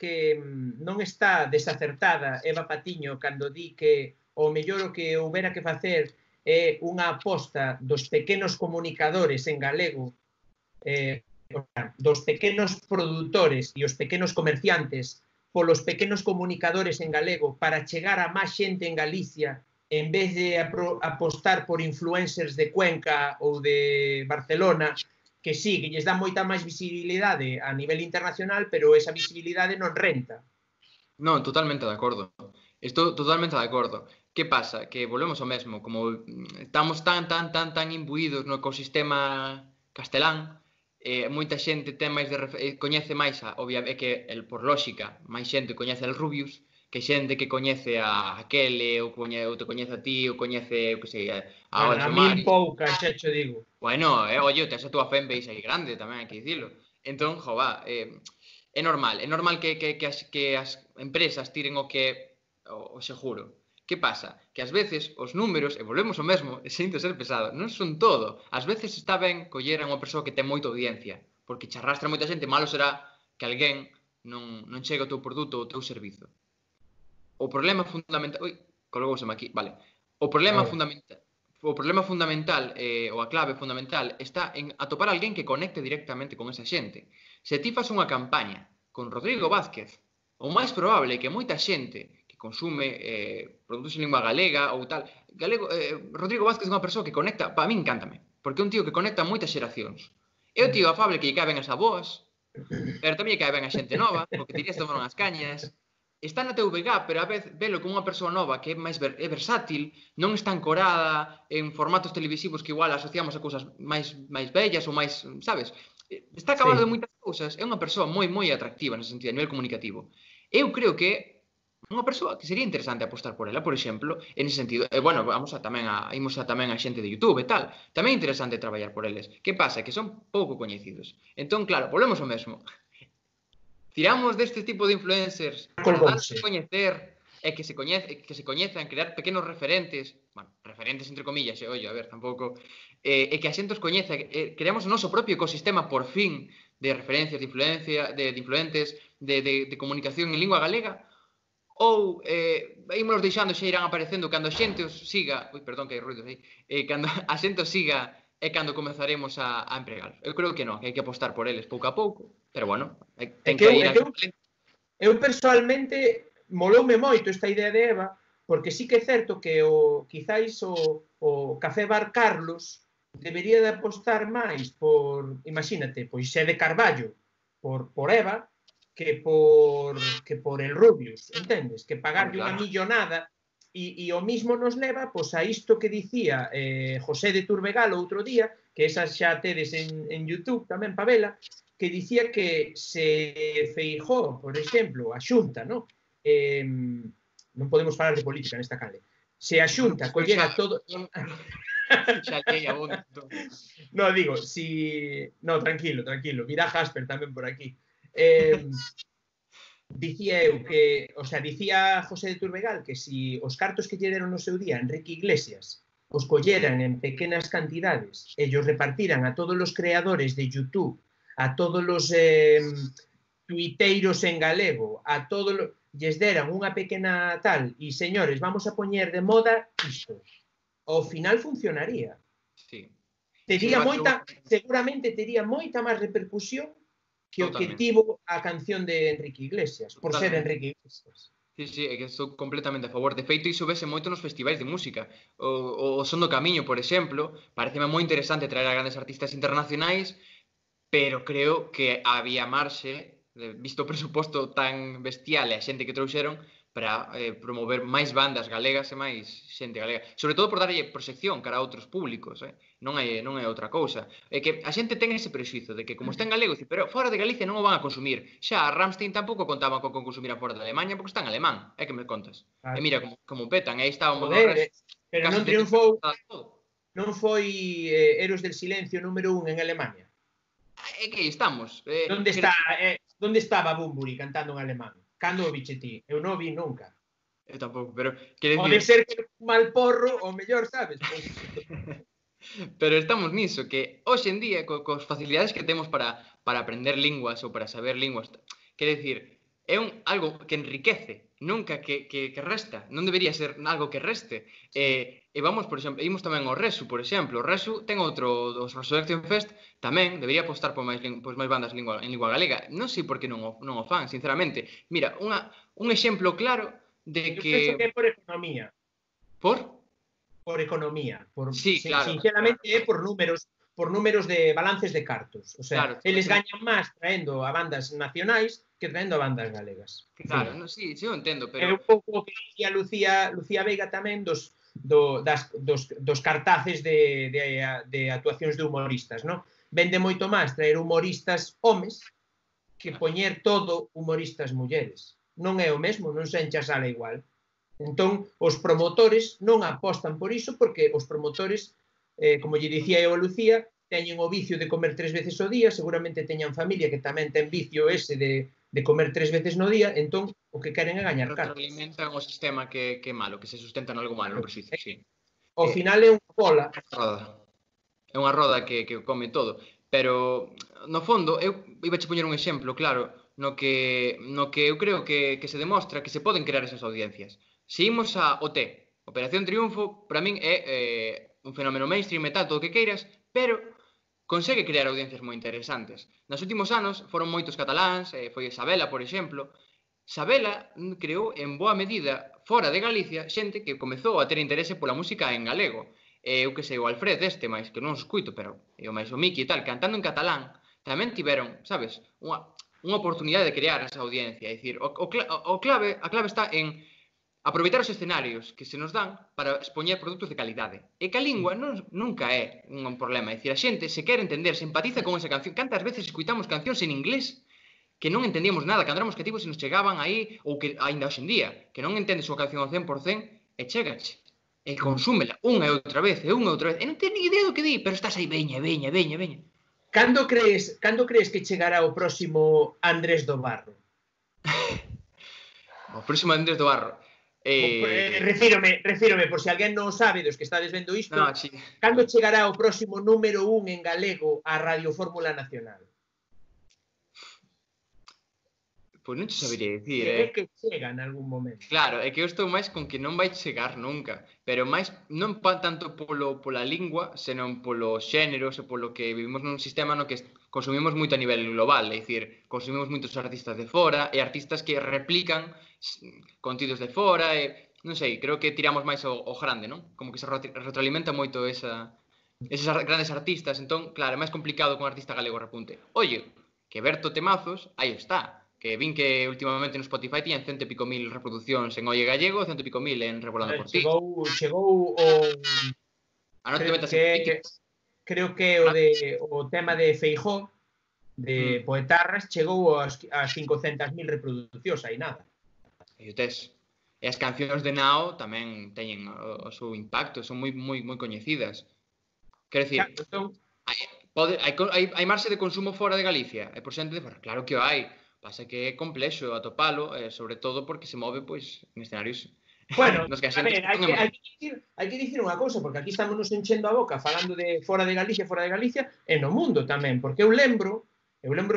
A: non está desacertada Eva Patiño cando di que o mellor o que houbera que facer é unha aposta dos pequenos comunicadores en galego, dos pequenos produtores e os pequenos comerciantes polos pequenos comunicadores en galego para chegar a máis xente en Galicia en vez de apostar por influencers de Cuenca ou de Barcelona, que sí, que lles dá moita máis visibilidade a nivel internacional, pero esa visibilidade non renta.
B: Non, totalmente de acordo. Estou totalmente de acordo. Que pasa? Que volvemos ao mesmo. Como estamos tan imbuídos no ecosistema castelán, moita xente ten máis coñece máis, obviamente, que por lógica, máis xente coñece el Rubius, que xente que coñece a Aquele, ou te coñece a ti, ou coñece, que sei,
A: a min pouca, xa cho digo.
B: Bueno, oye, tes a túa fanbase aí grande, tamén hai que dicilo. Entón, jova, é normal que as empresas tiren o seguro. Que pasa? Que ás veces os números, e volvemos ao mesmo, e sinto ser pesado, non son todo. Ás veces está ben coller a unha persoa que ten moita audiencia, porque che arrastra moita xente, malo será que alguén non chegue ao teu produto ou ao teu servizo. O problema fundamental... colgouseme aquí, vale. O problema fundamental, ou a clave fundamental, está en atopar alguén que conecte directamente con esa xente. Se ti fas unha campaña con Rodrigo Vázquez, o máis probable é que moita xente que consume produtos en lingua galega ou tal, Rodrigo Vázquez é unha persoa que conecta, para min encántame, porque é un tío que conecta moitas xeracións. É o tío afable que lle cae ben as aboas, pero tamén lle cae ben a xente nova, porque tirías tomar unhas cañas. Está na TVG, pero a vez velo como unha persoa nova que é versátil, non está ancorada en formatos televisivos que igual asociamos a cousas máis bellas ou máis, sabes? Está acabado de moitas cousas, é unha persoa moi atractiva nese sentido, a nivel comunicativo. Eu creo que unha persoa que sería interesante apostar por ela, por exemplo, en ese sentido. Bueno, imos tamén a xente de YouTube e tal. Tamén é interesante traballar por eles. Que pasa? Que son pouco coñecidos. Entón, claro, volvemos ao mesmo. Tiramos deste tipo de influencers para darse a coñecer e que se coñezan, crear pequenos referentes, bueno, referentes entre comillas, ollo, a ver, tampouco, e que a xente os coñeza, creamos o noso propio ecosistema, por fin, de referencias, de influencia, de influentes, de comunicación en lingua galega, ou ímonos deixando xa irán aparecendo cando a xente os siga, perdón que hai ruidos aí, cando a xente os siga é cando comezaremos a empregalos. Eu creo que non, que hai que apostar por eles pouco a pouco, pero bueno, ten que ir a...
A: Eu persoalmente moloume moito esta idea de Eva, porque sí que é certo que quizáis o Café Bar Carlos debería de apostar máis por, imagínate, pois xe de Carballo, por Eva, que por el Rubius, entendes? Que pagarlle unha millonada e o mismo nos leva pois, a isto que dicía José de Turbegal outro día, que esas xa tedes en YouTube tamén, Pavela, que dicía que se Feijóo, por exemplo, a Xunta, non? Non podemos falar de política nesta canle. Se a Xunta collera todo...
B: Xa lei a bondo.
A: No, digo, si... No, tranquilo, virá Jasper tamén por aquí. Dicía eu que, o sea, dicía José de Turbegal que si os cartos que lle deron no seu día Enrique Iglesias os colleran en pequenas cantidades e os repartiran a todos os creadores de YouTube, a todos os tuiteiros en galego, a todos lles deran unha pequena tal e, señores, vamos a poñer de moda isto. Ao final funcionaría.
B: Sí.
A: Tería moita, seguramente tería moita máis repercusión que o que tivo a canción de Enrique Iglesias, por ser Enrique Iglesias.
B: Sí, é que estou completamente a favor. De feito, iso vese moito nos festivais de música. O Son do Camiño, por exemplo, pareceme moi interesante traer a grandes artistas internacionais, pero creo que había marxe, visto o presuposto tan bestial e a xente que trouxeron, para promover máis bandas galegas e máis xente galega. Sobre todo por darlle proxección cara a outros públicos, non é outra cousa. É que a xente ten ese prexuizo de que como está en galego, pero fora de Galicia non o van a consumir. Xa, a Rammstein tampouco contaban con consumir fora de Alemanha porque está en alemán, é que me contas. E mira como petan, aí está o modo resto.
A: Pero non triunfou, non foi Héroes del Silencio número 1 en Alemania.
B: É que aí estamos.
A: Onde estaba Bunbury cantando en alemán? Cando o biche ti? Eu non vi nunca.
B: Eu tampouco, pero...
A: Pode ser que un mal porro, o mellor, sabes?
B: Pero estamos niso, que hoxe en día, cos facilidades que temos para aprender linguas ou para saber linguas, quer decir, é algo que enriquece, nunca que resta. Non debería ser algo que reste. E vamos, por exemplo, imos tamén ao Resu, por exemplo. O Resu ten outro, os Resurrection Fest, tamén debería apostar por máis bandas en lingua galega. Non sei por que non o fan, sinceramente. Mira, un exemplo claro de que...
A: Eu penso que é por economía.
B: Por?
A: Por economía.
B: Sí, claro.
A: Sinceramente é por números de balances de cartos. O sea, eles gañan máis traendo a bandas nacionais que traendo a bandas galegas.
B: Claro, sí, eu entendo, pero...
A: É un pouco o que dicía Lucía Veiga tamén dos cartaces de actuacións de humoristas, non? Vende moito máis traer humoristas homes que poñer todo humoristas mulleres. Non é o mesmo, non se enche a sala igual. Entón, os promotores non apostan por iso porque os promotores, como lle dicía eu a Lucía, teñen o vicio de comer 3 veces ao día, seguramente teñan familia que tamén ten vicio ese de comer 3 veces no día, entón o que queren é gañar cartos.
B: Retroalimentan o sistema que é malo, que se sustenta en algo malo, no preciso, sí.
A: Ao final é unha bola.
B: É unha roda que come todo. Pero, no fondo, eu iba a poñer un exemplo, claro, no que eu creo que se demostra que se poden crear esas audiencias. Se imos a OT, Operación Triunfo, para min é un fenómeno mainstream e tal, todo o que queiras, pero consegue crear audiencias moi interesantes. Nos últimos anos foron moitos cataláns, foi Sabela, por exemplo. Sabela creou en boa medida, fora de Galicia, xente que comezou a ter interese pola música en galego. Eu que sei, o Alfred mais que non os escuito, pero o máis o Miki e tal, cantando en catalán, tamén tiveron, sabes, unha oportunidade de crear esa audiencia. É dicir, a clave está en aproveitar os escenarios que se nos dan para expoñer produtos de calidade. E que a lingua nunca é un problema. É dicir, a xente se quere entender, se empatiza con esa canción. Cantas veces escuitamos cancións en inglés que non entendíamos nada, cando éramos cativos e nos chegaban aí, ou que ainda hoxe en día, que non entendes unha canción ao 100% e chegache. E consúmela unha e outra vez, e non tens ni idea do que di, pero estás aí, veña.
A: Cando crees que chegará o próximo Andrés do Barro?
B: O próximo Andrés do Barro.
A: Refírome, por se alguén non sabe dos que estades vendo isto, cando chegará o próximo número 1 en galego a Radio Fórmula Nacional?
B: Pois non te sabería dicir,
A: É que chega en algún momento.
B: Claro, é que eu estou máis con que non vai chegar nunca, pero máis non tanto pola lingua, senón polo xénero, e polo que vivimos nun sistema no que consumimos moito a nivel global, é dicir, consumimos moitos artistas de fora e artistas que replican contidos de fora e non sei, creo que tiramos máis ao grande, non? Como que se retroalimenta moito eses grandes artistas, entón, claro, é máis complicado que un artista galego repunte. Oye, que Berto Temazos, aí está. Que vin que últimamente no Spotify tiñan 100 e pico mil reproduccións en Oye Gallego e 100 e pico mil en Revolando por Ti.
A: Chegou o...
B: A non te metas en política.
A: Creo que o tema de Feijóo, de Poetarras, chegou ás 500.000 reproduccións, aí nada.
B: E o tes. E as cancións de Nao tamén teñen o seu impacto, son moi coñecidas. Quero dicir, hai marxe de consumo fora de Galicia, e por xente de fora, claro que o hai. Pasa que é complexo atopalo, sobre todo porque se move pois en escenarios.
A: Bueno, a ver, hai que dicir unha cousa, porque aquí estamos nos enchendo a boca falando de fora de Galicia, e no mundo tamén, porque eu lembro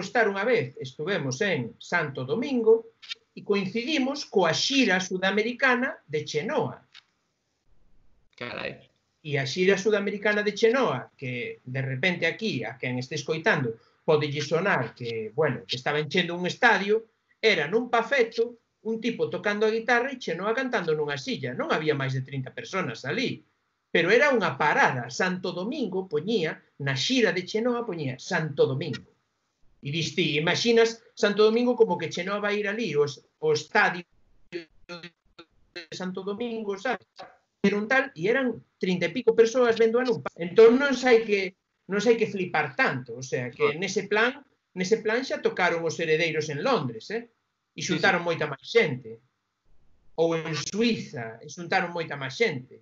A: estar unha vez, estuvemos en Santo Domingo, e coincidimos coa xira sudamericana de Chenoa.
B: Carai.
A: E a xira sudamericana de Chenoa, que de repente aquí, a quen este escoitando, podelle sonar que, bueno, que estaba enchendo un estadio, era nun pafeto, un tipo tocando a guitarra e Chenoa cantando nunha silla. Non había máis de 30 personas ali. Pero era unha parada. Santo Domingo poñía, na xira de Chenoa poñía Santo Domingo. E diste, imaginas Santo Domingo como que Chenoa vai ir ali, o estadio de Santo Domingo, sabes? Era un tal, e eran 30 e pico persoas vendo a nun pafeto. Entón non sei que flipar tanto, o sea, que nese plan xa tocaron os Heredeiros en Londres, e xuntaron moita máis xente. Ou en Suiza, e xuntaron moita máis xente.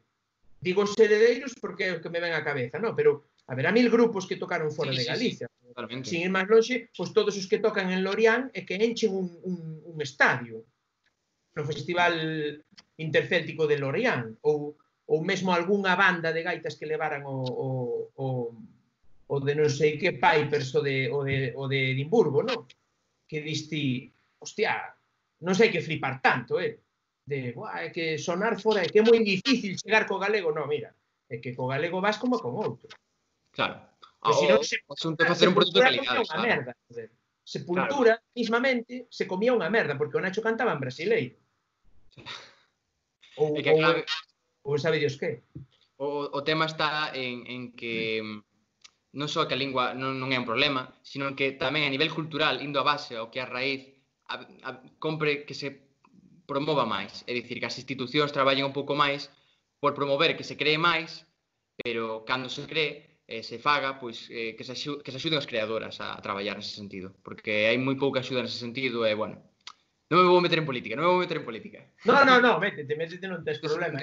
A: Digo os Heredeiros porque é o que me ven á cabeza, non? Pero haberá 1000 grupos que tocaron fora de Galicia. Sin ir máis lonxe, pois todos os que tocan en Lorient é que enchen un estadio no Festival Intercéltico de Lorient, ou mesmo algunha banda de gaitas que levaran o de non sei que Pipers o de Edimburgo, non? Que diste, hostia, non sei que flipar tanto, de, é que sonar fora, é que é moi difícil chegar co galego, non, mira, é que co galego vas como con outro.
B: Claro.
A: O asunto é facer un produto de calidade, claro. Sepultura, mismamente, se comía unha merda, porque o Nacho cantaba en brasileiro. Ou sabe Dios que?
B: O tema está en que non só que a lingua non é un problema, sino que tamén a nivel cultural, indo a base ao que é a raíz, compre que se promova máis. É dicir, que as institucións traballen un pouco máis por promover que se cree máis, pero cando se cree, se faga, pois que se axuden as creadoras a traballar nese sentido. Porque hai moi pouca axuda nese sentido e, bueno, non me vou meter en política. No, métete, non tes problema.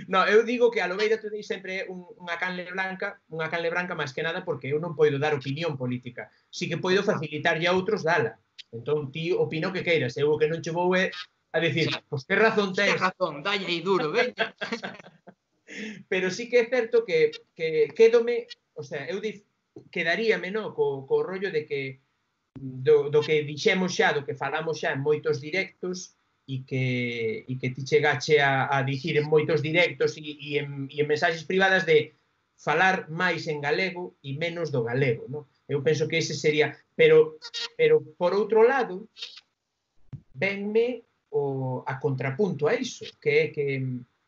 B: No, eu digo que a Lobeira Today sempre é unha canle branca máis que nada porque eu non poido dar opinión política. Si que poido facilitarlle a outros dala. Entón, ti opina o que queiras. Eu o que non che vou é a decir, pois que razón tens. Que razón, dalle aí duro, veña.
A: Pero sí que é certo que quédome, o sea, eu quedaríame, no, co rollo de que do que dixemos xa, do que falamos xa en moitos directos e que ti chegache a dicir en moitos directos e en mensaxes privadas de falar máis en galego e menos do galego, non? Eu penso que ese sería, pero por outro lado venme a contrapunto a iso, que é que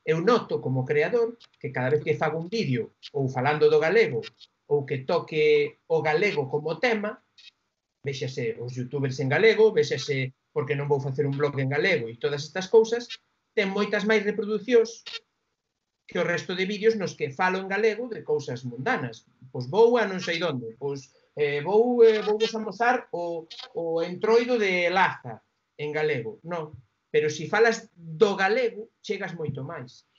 A: eu noto como creador que cada vez que fago un vídeo ou falando do galego ou que toque o galego como tema, véxase os youtubers en galego, véxase porque non vou facer un blog en galego e todas estas cousas, ten moitas máis reproduccións que o resto de vídeos nos que falo en galego de cousas mundanas. Pois vou a non sei onde, pois vou vos amosar o entroido de Laza en galego. Non, pero se falas do galego, chegas moito máis.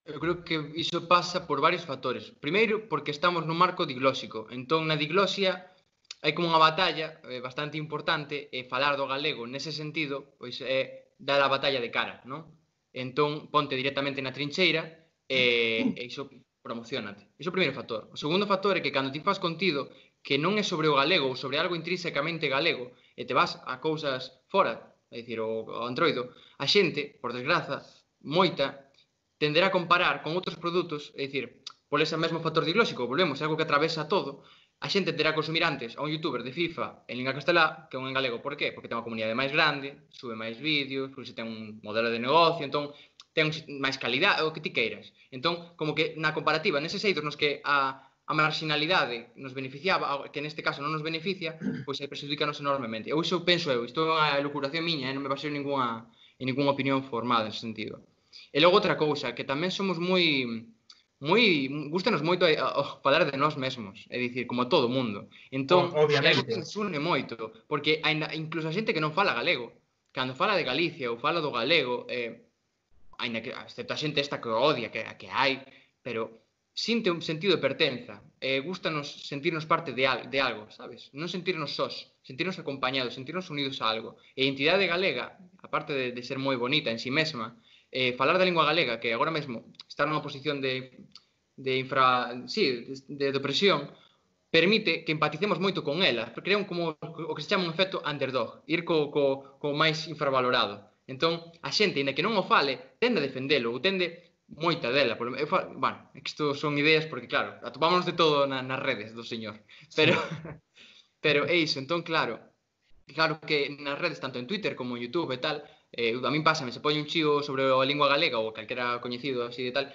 B: Eu creo que iso pasa por varios factores. Primeiro, porque estamos nun marco diglóxico. Entón, na diglosia hai como unha batalla bastante importante e falar do galego nese sentido pois é dar a batalla de cara, non? Entón, ponte directamente na trincheira e iso promocionate. Iso é o primeiro factor. O segundo factor é que cando ti faz contido que non é sobre o galego ou sobre algo intrínsecamente galego e te vas a cousas fora, é dicir, o Androido, a xente, por desgraza, moita, tenderá a comparar con outros produtos, é dicir, por ese mesmo factor diglóxico, volvemos, é algo que atravesa todo, a xente terá que consumir antes a un youtuber de FIFA en lingua castelá que un en galego. Por qué? Porque ten unha comunidade máis grande, sube máis vídeos, porque se ten un modelo de negocio, entón ten máis calidade, o que ti queiras. Entón, como que na comparativa, neses eidos nos que a marginalidade nos beneficiaba, que neste caso non nos beneficia, pois aí perxudícanos enormemente. Ou iso penso eu, isto é unha elucuración miña, non me baseo en ninguna opinión formada nese sentido. E logo outra cousa, que tamén somos gustanos moito falar de nós mesmos, é dicir, como todo o mundo. Entón, é algo que nos une moito, porque incluso a xente que non fala galego, cando fala de Galicia ou fala do galego, ainda que, excepto a xente esta que odia, que hai, pero sinte un sentido de pertenza, gustanos sentirnos parte de algo, sabes? Non sentirnos sós, sentirnos acompañados, sentirnos unidos a algo. E a identidade galega, aparte de ser moi bonita en si mesma, falar da lingua galega, que agora mesmo está nunha posición de opresión, permite que empaticemos moito con ela, porque crea como o que se chama un efecto underdog, ir co máis infravalorado. Entón, a xente, ainda que non o fale, tende a defendelo, ou tende moita dela. Bueno, isto son ideas porque, claro, atopámonos de todo nas redes do señor. Pero é iso, entón, claro que nas redes, tanto en Twitter como en YouTube e tal, a min pásame, se poñe un chío sobre a lingua galega ou calquera coñecido así de tal,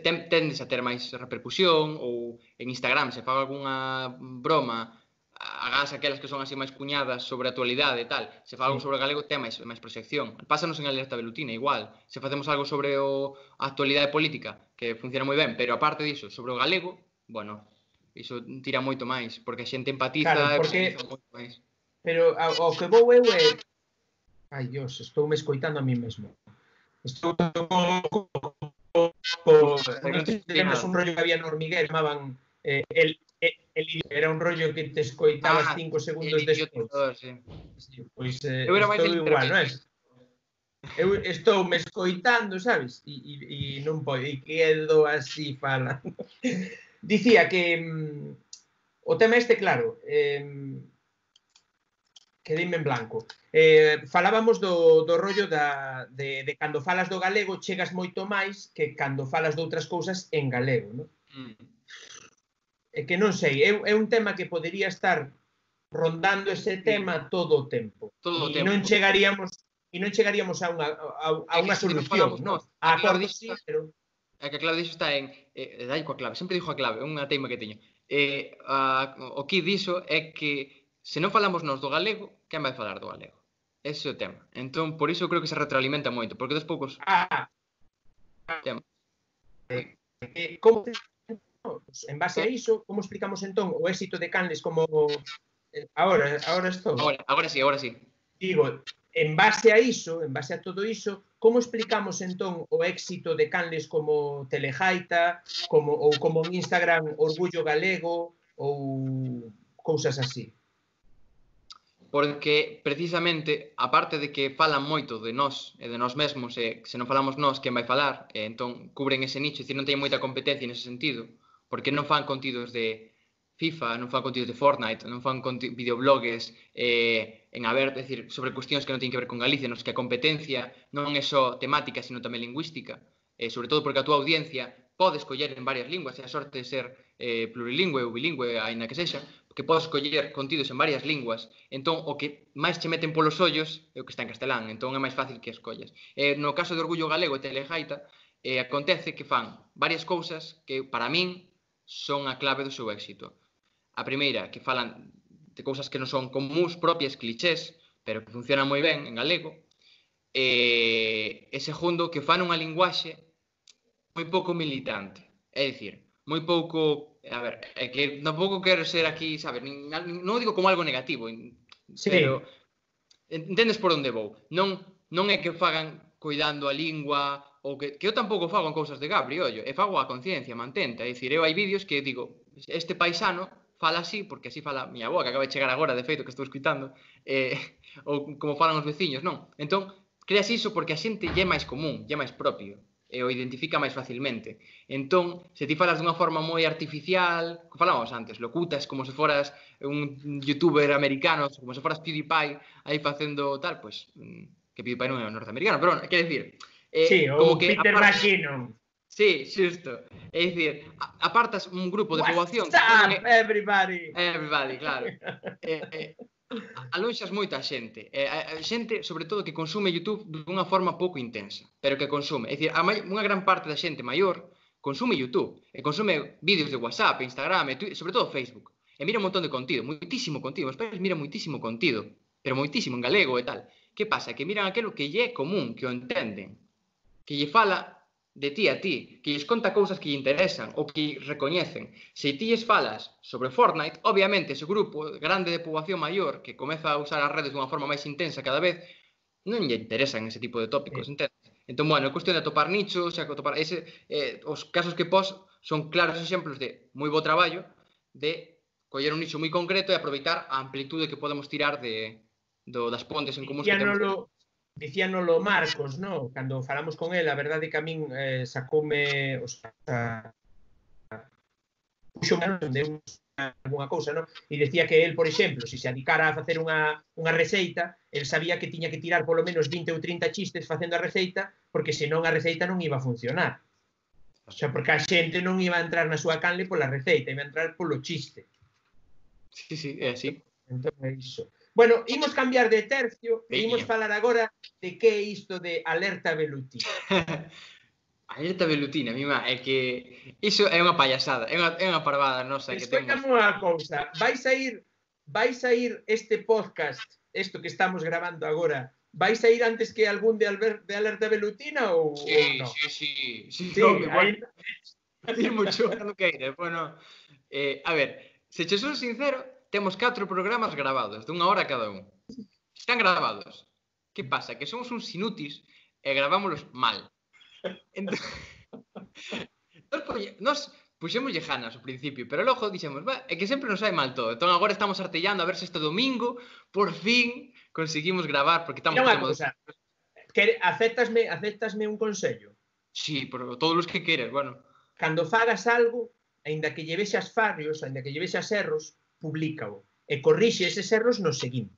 B: tendes a ter máis repercusión, ou en Instagram se faga algunha broma, agás aquelas que son así máis cuñadas sobre a actualidade e tal, se faga algo sobre o galego ten máis proxección. Pásanos en Alerta Velutina igual, se facemos algo sobre a actualidade política, que funciona moi ben, pero aparte diso, sobre o galego, bueno, iso tira moito máis, porque a xente empatiza,
C: claro, porque moito máis. Pero o que vou eu é... Ai, Dios, estou me escoitando a mí mesmo. Estou temos un rollo que había no hormiguero, chamaban era un rollo que te escoitabas 5 segundos despois. Pois estou igual, non é? Eu estou me escoitando, sabes? E non podo, e quedo así falando. Dicía que o tema este, claro, quedeime en blanco. Falábamos do rollo de cando falas do galego chegas moito máis que cando falas de outras cousas en galego, non? É que non sei, é un tema que podería estar rondando ese tema todo o tempo. E non chegaríamos a unha solución, non? A acordos sí, pero...
B: É que a clave diso está en... dai coa clave, sempre dixo a clave, unha teima que teño. O que diso é que se non falamos nós do galego, quen vai falar do galego? Ese é o tema. Entón, por iso creo que se retroalimenta moito, porque dos poucos...
C: Como... En base a iso, como explicamos entón o éxito de Canles como... Agora estou.
B: Agora sí.
C: Digo, en base a iso, en base a todo iso, como explicamos entón o éxito de Canles como Telejaita, ou como en Instagram Orgullo Galego, ou cousas así?
B: Porque, precisamente, aparte de que falan moito de nós e de nós mesmos, e se non falamos nós, quen vai falar, entón cubren ese nicho, non teñen moita competencia nese sentido, porque non fan contidos de FIFA, non fan contidos de Fortnite, non fan videoblogs sobre cuestións que non teñen que ver con Galicia, nos que a competencia non é só temática, sino tamén lingüística, sobre todo porque a túa audiencia pode escoller en varias linguas, e a sorte de ser plurilingüe ou bilingüe, aínda que sexa, que podes escoller contidos en varias linguas, entón o que máis che meten polos ollos é o que está en castelán, entón é máis fácil que escollas. No caso de Orgullo Galego e Telejaita, acontece que fan varias cousas que para min son a clave do seu éxito. A primeira, que falan de cousas que non son comuns, propias, clichés, pero que funcionan moi ben en galego. E segundo, que fan unha linguaxe moi pouco militante. É dicir, moi pouco... A ver, é que tampouco quero ser aquí, sabes? Non o digo como algo negativo, pero entendes por onde vou. Non é que fagan cuidando a lingua, ou que eu tampouco fago en cousas de Gabri, ollo, e fago a conciencia, mantenta. É dicir, eu hai vídeos que digo, este paisano fala así, porque así fala a miña avó, que acaba de chegar agora, de feito, que estou escutando, ou como falan os veciños, non? Entón, creas iso porque a xente lle é máis común, lle é máis propio. e o identifica máis facilmente. Entón, se ti falas dunha forma moi artificial, que falábamos antes, locutas como se foras un youtuber americano, como se foras PewDiePie aí facendo tal, pois que PewDiePie non é norteamericano, pero quer decir,
C: Sí,
B: como
C: ou
B: que
C: Peter McKinnon.
B: Sí, xusto. É dicir, apartas un grupo de poboación...
C: What's up, everybody?
B: Everybody, claro. Alonxas moita xente. Xente, sobre todo, que consume YouTube dunha forma pouco intensa, pero que consume. É dicir, unha gran parte da xente maior consume YouTube, e consume vídeos de WhatsApp, Instagram, Twitter, sobre todo Facebook. E mira un montón de contido, moitísimo contido. Os pais miran moitísimo contido, pero moitísimo en galego e tal. Que pasa? Que miran aquilo que lle é común, que o entenden, que lle fala de ti a ti, que lles conta cousas que lle interesan ou que recoñecen. Se ti lles falas sobre Fortnite, obviamente ese grupo grande de poboación maior que comeza a usar as redes dunha forma máis intensa cada vez, non lle interesan ese tipo de tópicos, entendes? Entón, bueno, é cuestión de atopar nichos, os casos que pos son claros exemplos de moi bo traballo de coller un nicho moi concreto e aproveitar a amplitude que podemos tirar das pontes en común que temos.
C: Dicíanolo Marcos, no? Cando falamos con él, a verdade que a min sacoume, o sea, puxo menos de alguna cousa, no? E decía que él, por exemplo, se se adicara a facer unha receita, él sabía que tiña que tirar polo menos 20 ou 30 chistes facendo a receita, porque senón a receita non iba a funcionar. O sea, porque a xente non iba a entrar na súa canle pola receita, iba a entrar polo chiste.
B: Sí, é así.
C: Entón é iso. Bueno, imos cambiar de tercio e imos falar agora de que é isto de alerta velutina.
B: Alerta velutina, mima, é que iso é unha payasada, é unha parvada nosa que temos.
C: Escoitame unha cousa, vai sair este podcast, isto que estamos grabando agora, vai sair antes que algún de alerta velutina ou non?
B: Sí,
C: Sí,
B: mucho, non queire, bueno, a ver, se che son sincero, temos 4 programas grabados, dunha hora cada un. Están grabados. Que pasa? Que somos uns inútis e gravámolos mal. Entón, nos puxémoslle ganas ao principio, pero logo dixemos, é que sempre nos sai mal todo. Entón agora estamos artellando a ver se este domingo, por fin, conseguimos gravar, porque estamos...
C: Mira unha cousa, aceptasme un consello?
B: Sí, por todos os que queres, bueno.
C: Cando fagas algo, aínda que lle vexas fallos, aínda que lle vexas erros, publícao e corrixe eses erros no seguinte.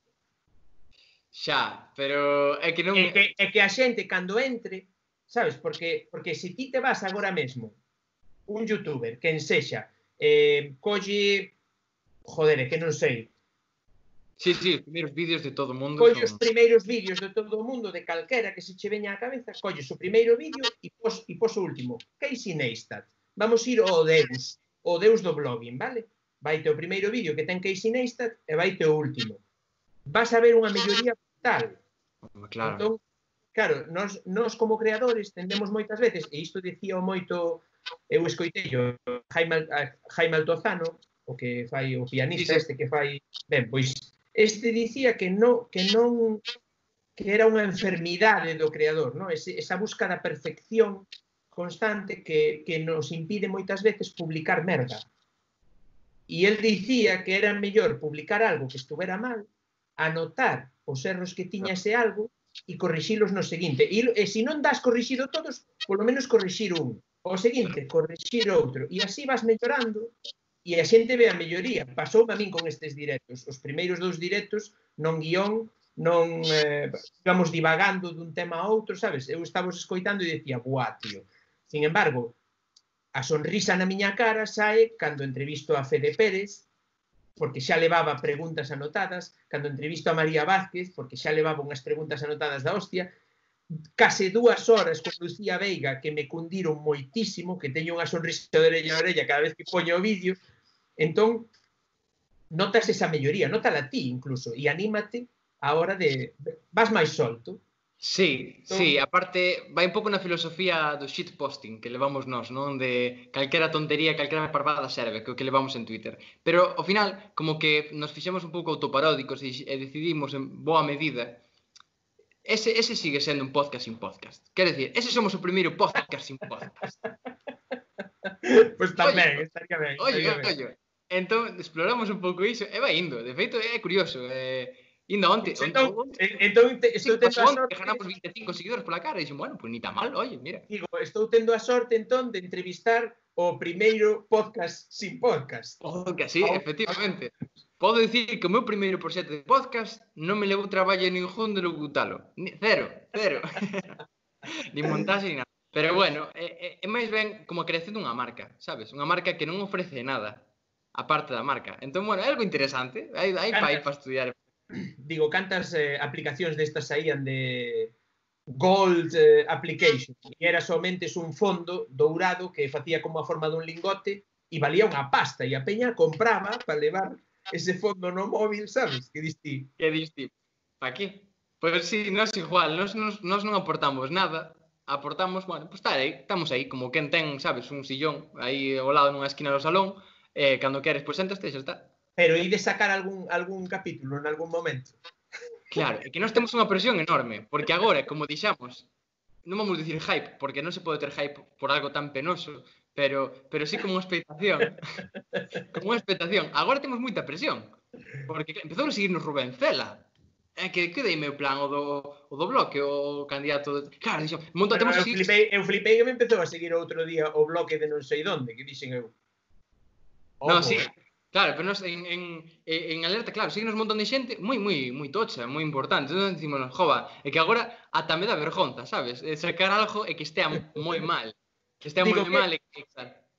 B: Xa, pero é que non...
C: É que a xente, cando entre, sabes, porque se ti te vas agora mesmo, un youtuber, que ensexa, colle, joder, que non sei.
B: Sí, os primeiros vídeos de todo o mundo.
C: Colle os primeiros vídeos de todo o mundo, de calquera que se che veña á cabeza, colles o primeiro vídeo e pos o último. Casey Neistat. Vamos ir ao Deus do blogging, vale? Vaite o primeiro vídeo que ten Casey Neistat e vaite o último. Vas a ver unha melloría brutal.
B: Claro.
C: Entón, claro, nós como creadores tendemos moitas veces, e isto dicía moito, eu escoitei o Jaime Altozano, o que fai o pianista este que fai, ben, pois este dicía que era unha enfermidade do creador, no? Esa busca da perfección constante que nos impide moitas veces publicar merda. E el dicía que era mellor publicar algo que estuvera mal, anotar os erros que tiña ese algo e corrixilos no seguinte. E se non das corrixido todos, polo menos corrixir un. O seguinte, corrixir outro. E así vas mellorando e a xente ve a melloría. Pasou a min con estes directos. Os primeiros 2 directos, non guión, non íbamos divagando dun tema a outro, sabes? Eu estaba escoitando e decía, buah, tío. Sin embargo, a sonrisa na miña cara sae cando entrevisto a Fede Pérez, porque xa levaba preguntas anotadas, cando entrevisto a María Vázquez, porque xa levaba unhas preguntas anotadas da hostia, case 2 horas con Lucía Veiga, que me cundiron moitísimo, que teño unha sonrisa de orella a orella cada vez que poño o vídeo. Entón, notas esa melloría, notala ti incluso, e anímate a hora de... vas máis solto.
B: Sí, aparte vai un pouco na filosofía do shitposting que levamos nós, non? De calquera tontería, calquera parvada serve, que o que levamos en Twitter. Pero, ao final, como que nos fixemos un pouco autoparódicos e decidimos en boa medida, ese sigue sendo un podcast sin podcast. Quer decir, ese somos o primeiro podcast sin podcast.
C: Pois tamén, estaría ben.
B: Oye. Entón, exploramos un pouco iso e vai indo. De feito, é curioso. Inda onte,
C: estou tendo a sorte...
B: ganamos 25 seguidores pola cara, e dixen, bueno, pues ni tan mal, oye, mira.
C: Digo, estou tendo a sorte, entón, de entrevistar o primeiro podcast sin podcast.
B: Podcast, sí, efectivamente. Podo dicir que o meu primeiro proxecto de podcast non me levou traballo ningún de locutalo. Cero. Nin montaxe, nin nada. Pero bueno, é máis ben como a creación dunha marca, sabes? Unha marca que non ofrece nada, aparte da marca. Entón, bueno, é algo interesante. Hai para estudiar.
C: Digo, cantas aplicacións destas saían de Gold Application, e era somente un fondo dourado que facía como a forma dun lingote e valía unha pasta, e a peña compraba para levar ese fondo no móvil, sabes? Que diste?
B: Que diste? Pa qué? Pois sí, nós igual, nós non aportamos nada, aportamos, bueno, pues estamos aí, como quen ten, sabes, un sillón aí ao lado nunha esquina do salón, cando queres, pois sentaste e xa está.
C: Pero de sacar algún capítulo en algún momento.
B: Claro, é que nós temos unha presión enorme, porque agora, como dixamos, non vamos dicir hype, porque non se pode ter hype por algo tan penoso, pero sí como unha expectación. Como unha expectación. Agora temos moita presión, porque empezou a seguirnos Rubén Cela. É que dei meu plan o do bloque, o candidato... Claro, dixo,
C: temos que seguir... Eu flipei que me empezou a seguir outro día o bloque de non sei donde, que dixen eu.
B: Non, sí. Claro, pero nos en alerta, claro, signos un montón de xente moi tocha, moi importante. Entón dicimos, jova, é que agora ata me dá vergonza, sabes? Sacar algo e que estea moi mal. Que estea moi mal e que...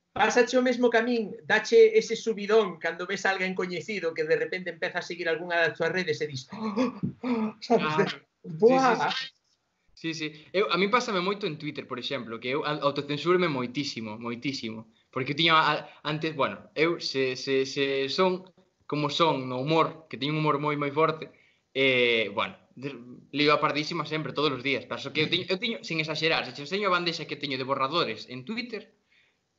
C: Pásache o mesmo que a min, dache ese subidón cando ves a alguén coñecido que de repente empeza a seguir algunha das túas redes e dis, sabes?
B: Buah! Sí. A mí pásame moito en Twitter, por exemplo, que eu autocensurme moitísimo. Porque eu tiña antes, bueno, eu se son como son no humor, que teño un humor moi forte, bueno, lío a pardísima sempre, todos os días. Paso que eu teño, sin exagerar, se enseño a bandexa que teño de borradores en Twitter,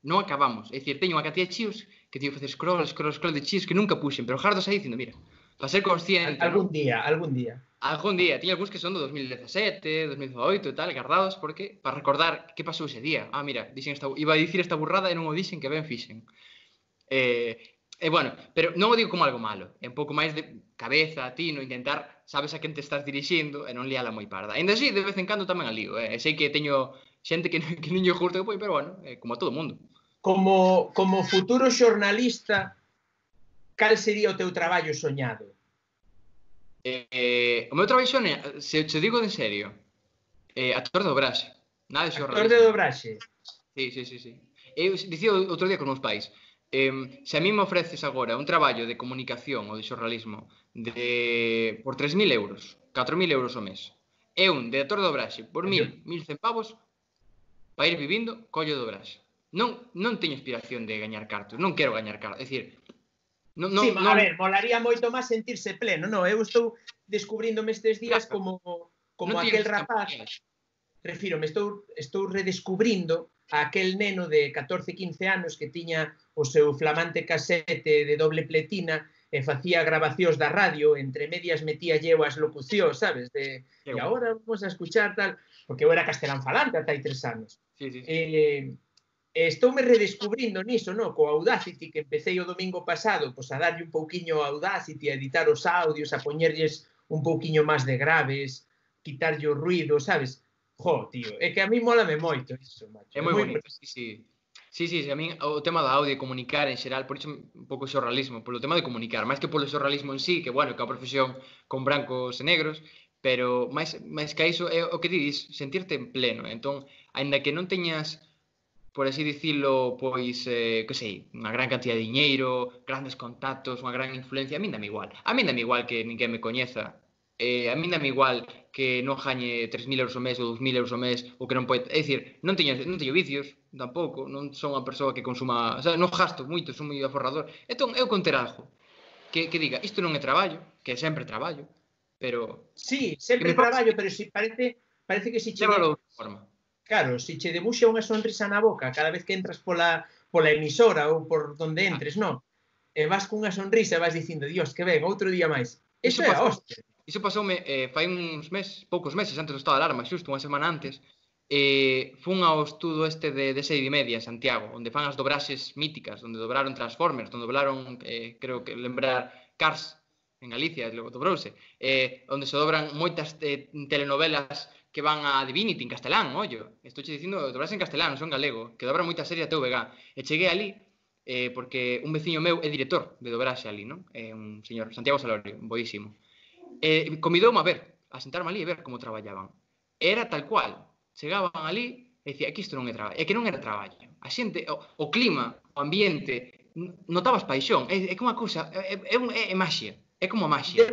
B: non acabamos. É dicir, teño unha cantidad de chíos que teño que facer scroll de chíos que nunca puxen, pero jardos aí dicindo, mira, para ser consciente...
C: Algún día.
B: Tiña algúns que son do 2017, 2018 e tal, guardados, porque para recordar que pasou ese día. Mira, iba a dicir esta burrada e non o dixen, que ben fixen. Bueno, pero non o digo como algo malo. É un pouco máis de cabeza, tino, intentar, sabes a quen te estás dirixindo e non liala moi parda. Ainda así, de vez en cando tamén a lío. Sei que teño xente que non lle curto que pero bueno, como a todo mundo.
C: Como futuro xornalista, cal sería o teu traballo soñado?
B: O meu traballo soñado, se te digo en serio, actor de dobraxe. Nada de xornalismo.
C: Actor de dobraxe?
B: Sí. Eu dicía outro día con meus pais, se a mí me ofreces agora un traballo de comunicación ou de xornalismo por 3.000 euros, 4.000 euros ao mes, e un de actor de dobraxe por 1.100 pavos, para ir vivindo, collo de dobraxe. Non teño inspiración de gañar cartos, non quero gañar cartos, é dicir...
C: A ver, molaría moito máis sentirse pleno, non? Eu estou descubríndome estes días como aquel rapaz, refírome, estou redescubrindo a aquel neno de 14-15 anos que tiña o seu flamante casete de doble pletina e facía grabacións da radio, entre medias metía eu as locucións, sabes? E agora vamos a escuchar tal, porque eu era castelán falante ata hai 3 anos. Estoume redescubrindo niso, no? Co Audacity, que empecé o domingo pasado, pois a darlle un pouquiño a Audacity, a editar os audios, a poñerlles un pouquiño máis de graves, quitarlle o ruido, sabes? Jo, tío, é que a mí mólame moito iso, macho.
B: É moi bonito, sí. Sí, a mí o tema da audio e comunicar en xeral, por iso un pouco xornalismo, polo tema de comunicar, máis que polo xornalismo en sí, que bueno, que é unha profesión con brancos e negros, pero máis que iso é o que dices, sentirte en pleno. Entón, aínda que non teñas, por así dicilo, pois, que sei, unha gran cantidad de diñeiro, grandes contactos, unha gran influencia, a min dame igual. A min dame igual que ninguén me coñeza. A min dame igual que non gañe 3.000 euros ao mes ou 2.000 euros ao mes ou que non pode... É dicir, non teño vicios, tampouco, non son unha persoa que consuma... O sea, non gasto moito, son moi aforrador. Entón, eu con ter algo que diga, isto non é traballo, que é sempre traballo, pero...
C: Sí, sempre traballo, pero si parece que si che... Claro, si che debuxa unha sonrisa na boca cada vez que entras pola emisora ou por donde entres, non? E vas cunha sonrisa e vas dicindo, Dios, que ben, outro día máis. Iso é a hostia.
B: Iso pasoume fai uns poucos meses antes do estado de alarma, xusto unha semana antes, fun ao estudo este de Serie Media en Santiago, onde fan as dobraxes míticas, onde dobraron Transformers, onde doblaron, creo que lembrar, Cars, en Galicia, dobrouse, onde se dobran moitas telenovelas que van a Divinity en castelán, ollo. Estou che dicindo, dobrase en castelán, non son galego, que dobran moitas series a TVG. E cheguei ali, porque un veciño meu é director de dobraxe ali, non? Un señor, Santiago Salorio, boísimo. Convidoume a ver, a sentarme ali e ver como traballaban. Era tal cual, chegaban ali e dicía, que isto non é traballo, é que non era traballo. A xente, o clima, o ambiente, notabas paixón, é que unha cousa, é maxia, é como a maxia.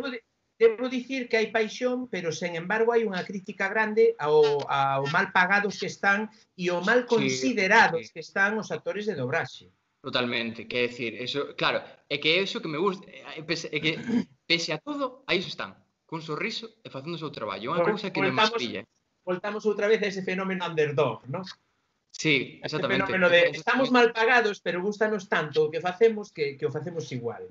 C: Debo dicir que hai paixón, pero, sen embargo, hai unha crítica grande ao mal pagados que están e ao mal considerados que están os actores de dobraxe.
B: Totalmente, quer decir, eso, claro, é que é iso que me gusta, é que pese a todo, aí están, cun sorriso e facendo o seu traballo, unha cousa que me maravilla.
C: Voltamos outra vez a ese fenómeno underdog, non?
B: Sí, exactamente.
C: Ese fenómeno de estamos mal pagados, pero gustanos tanto o que facemos que o facemos igual.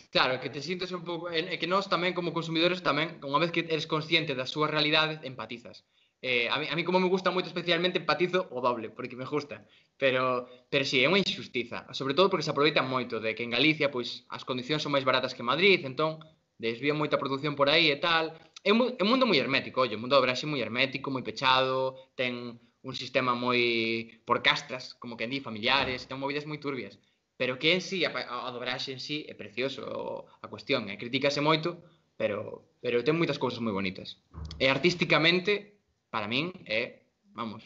B: Claro, que te sientes un pouco... E que nós tamén, como consumidores, tamén, unha vez que eres consciente da súa realidade, empatizas. A mí como me gusta moito especialmente, empatizo o doble, porque me gusta. Pero sí, é unha injustiza. Sobre todo porque se aproveitan moito de que en Galicia, pois, as condicións son máis baratas que en Madrid, entón, desvían moita produción por aí e tal. É un mundo moi hermético, ollo, o mundo do dobraxe moi hermético, moi pechado, ten un sistema moi por castas, como que en di, familiares, ten movidas moi turbias. Pero que en sí, a dobraxe en sí é precioso a cuestión, critícase moito, pero ten moitas cousas moi bonitas. E artísticamente, para min, é, vamos,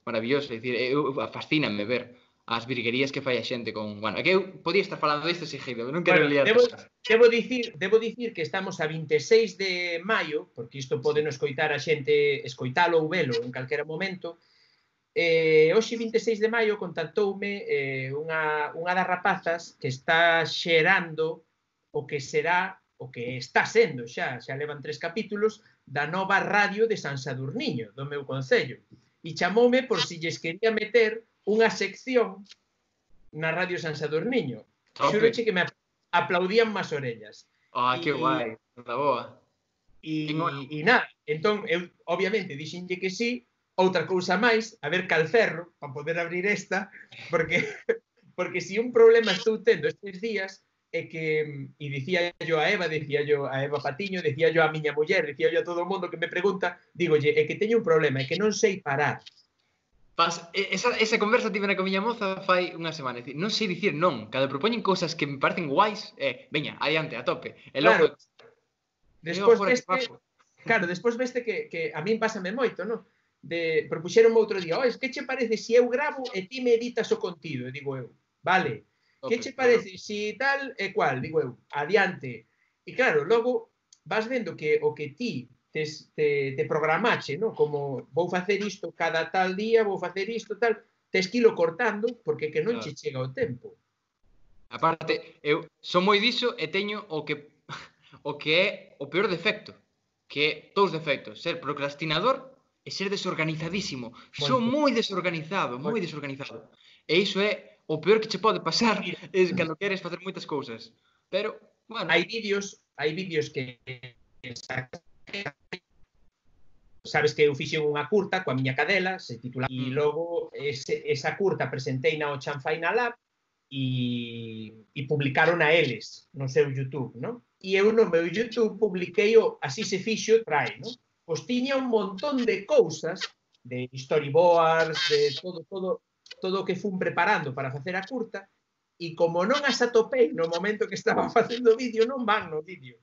B: maravilloso, é dicir, fascíname ver as virguerías que fai a xente con... Bueno, é que eu podía estar falando disto seguido, non quero liar.
C: Debo dicir que estamos a 26 de maio, porque isto pode non escoitar a xente, escoitalo ou velo en calquera momento. Hoxe 26 de maio contactoume unha das rapazas que está xerando o que será, o que está sendo xa levan 3 capítulos da nova radio de San Sadurniño, do meu concello, e chamoume por si lles quería meter unha sección na radio San Sadurniño. Xuroche que me aplaudían máis orellas.
B: Que guai, da boa.
C: E nada, entón, eu obviamente dixenlle que sí. Outra cousa máis, a ver cal cerro para poder abrir esta, porque si un problema estou tendo estes días é que, e dicía yo a Eva Patiño, dicía yo a miña muller, dicía yo a todo o mundo que me pregunta, digolle, é que teño un problema, é que non sei parar.
B: Esa conversa tivera con miña moza fai unha semana, non sei dicir non, cando propoñen cousas que me parecen guais, veña, adiante, a tope.
C: Claro, despois veste que a min pásame moito, non? Propuxeronme outro día, que che parece se eu gravo e ti me editas o contido? E digo eu, vale, que che parece se tal e cual? Digo eu, adiante. E claro, logo vas vendo que o que ti te programache, como vou facer isto cada tal día, vou facer isto tal, tes que ilo cortando porque que non che chega o tempo.
B: Aparte, eu son moi diso e teño o que é o peor defecto, que é dous defectos, ser procrastinador e ser desorganizadísimo. Son moi desorganizado, moi desorganizado. E iso é o peor que che pode pasar cando queres facer moitas cousas. Pero, bueno...
C: Hai vídeos que... Sabes que eu fixen unha curta coa miña cadela, se titula... E logo esa curta presentei na Chanfaina Lab e publicaron a eles no seu YouTube, non? E eu no meu YouTube publiquei o Así se fixo, trae, non? Pois tiña un montón de cousas, de storyboards, de todo o que fun preparando para facer a curta, e como non as atopei no momento que estaba facendo o vídeo, non van no vídeo.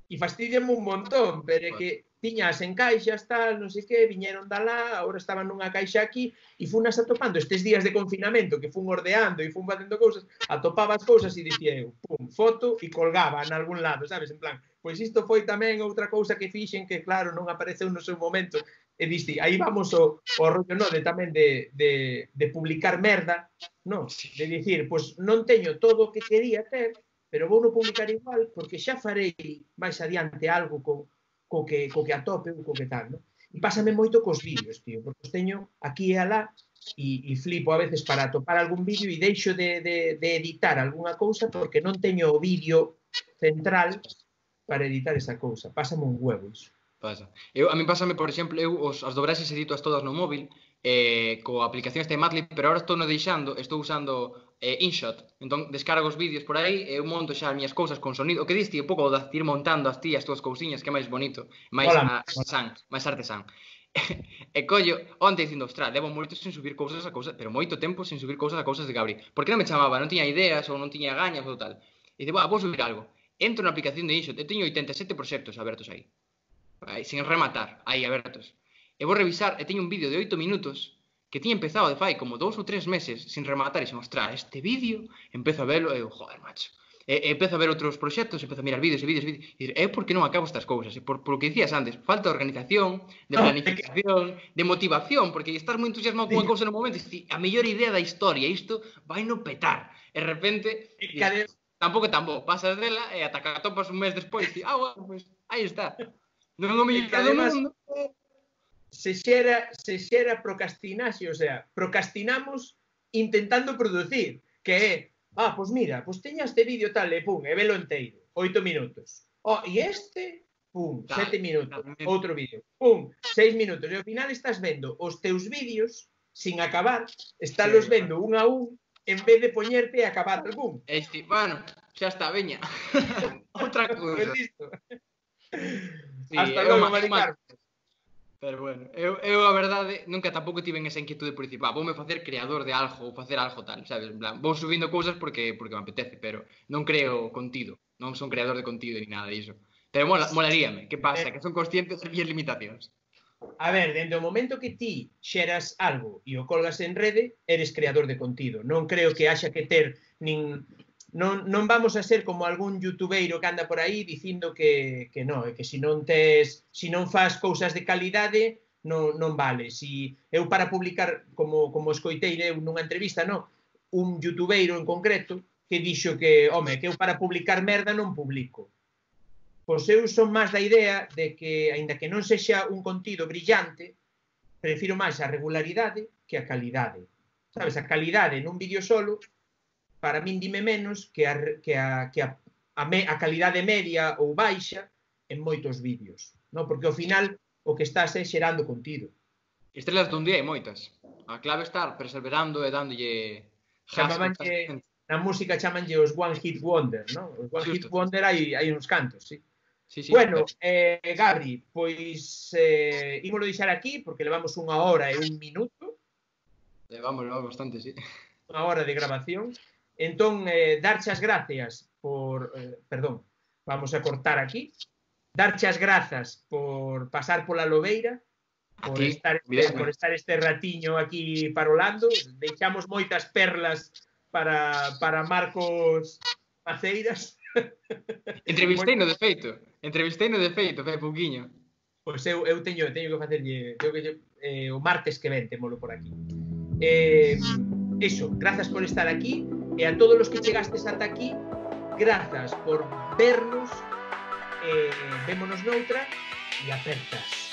C: E fastidiame un montón, pero é que tiñas en caixas, tal, non sei que, viñeron da lá, agora estaban nunha caixa aquí, e funas atopando estes días de confinamento que fun ordeando e fun facendo cousas, atopaba as cousas e dicía eu, pum, foto e colgaba en algún lado, sabes, en plan, pois isto foi tamén outra cousa que fixen que, claro, non apareceu no seu momento, e diste, aí vamos o rollo, non, de tamén de publicar merda, non, de dicir, pois non teño todo o que quería ter, pero vou no publicar igual, porque xa farei máis adiante algo co que atope ou co que tal, non? E pásame moito cos vídeos, tío, porque os teño aquí e alá e flipo a veces para atopar algún vídeo e deixo de editar algunha cousa porque non teño o vídeo central para editar esa cousa. Pásame un huevo iso.
B: Pasa. A mí pásame, por exemplo, as dobraxes editoas todas no móvil coa aplicación esta de Madlib, pero agora estou usando InShot. Entón, descargo os vídeos por aí e eu monto xa as miñas cousas con sonido. O que diste, un pouco de ir montando as túas cousiñas, que é máis bonito, máis artesán. E collo, onte dicindo, ostras, levo moito sin subir cousas a cousas, pero moito tempo sin subir cousas a cousas de Gabri. Porque non me chamaba, non tiña ideas ou non tiña gañas ou tal. E dice, vou subir algo. Entro na aplicación de InShot e teño 87 proxectos abertos aí. Sin rematar, aí abertos. E vou revisar e teño un vídeo de 8 minutos que tiña empezado de fai como 2 ou 3 meses sin rematar e sin mostrar este vídeo, empezo a verlo e eu, joder, macho. E empezo a ver outros proxectos, empezo a mirar vídeos e dir, por que non acabo estas cousas? Por o que dicías antes, falta de organización, de planificación, de motivación, porque estás moi entusiasmado con unha cousa no momento e dices, a mellor idea da historia, isto vai no petar. E de repente, tampouco é tan bo, pasas dela e ata que atopas un mes despois e bueno, pois, aí está. Non é o mellor do mundo.
C: Se xera procrastinaxe, o sea, procrastinamos intentando producir, que é, pois mira, pois teña este vídeo tal, e pum, e velo enteiro, 8 minutos. E este, pum, 7 minutos, outro vídeo, pum, 6 minutos. E ao final estás vendo os teus vídeos sin acabar, estálos vendo un a un, en vez de poñerte a acabar algún.
B: Bueno, xa está, veña. Outra cousa.
C: Hasta logo, Mari Carmen.
B: Pero bueno, eu a verdade nunca tampouco tiven esa inquietude por dicir, voume facer creador de algo ou facer algo tal, sabes? En plan, vou subindo cousas porque me apetece, pero non creo contido, non son creador de contido ni nada diso. Pero molaríame, que pasa? Que son conscientes das miñas limitacións.
C: A ver, dentro do momento que ti xeras algo e o colgas en rede, eres creador de contido. Non creo que haxa que ter non vamos a ser como algún youtubeiro que anda por aí dicindo que non, que se non faz cousas de calidade non vale. Eu para publicar, como escoitei nunha entrevista, un youtubeiro en concreto que dixo que, que eu para publicar merda non publico. Pois eu son máis da idea de que, aínda que non sexa un contido brillante, prefiro máis a regularidade que a calidade. Sabes, a calidade nun vídeo solo para min dime menos que a calidade media ou baixa en moitos vídeos, porque ao final o que estás é xerando contido.
B: Estrelas dun día hai moitas. A clave está perseverando e dándolle...
C: Na música chamanlle os One Hit Wonder, non? Os One Hit Wonder hai uns cantos, sí. Bueno, Gabri, pois ímolo deixar aquí porque levamos 1 hora e 1 minuto.
B: Levamos bastante, sí.
C: 1 hora de grabación. Entón, darche as gracias por... perdón, vamos a cortar aquí. Darche as grazas por pasar pola Lobeira, por estar este ratiño aquí parolando. Deixamos moitas perlas para Marcos Maceiras.
B: Entrevisteino de feito, fai pouquiño.
C: Pois eu teño que facerlle o martes que ven, témolo por aquí. Eso, grazas por estar aquí. E a todos os que chegastes ata aquí, grazas por vernos, vémonos noutra e apertas.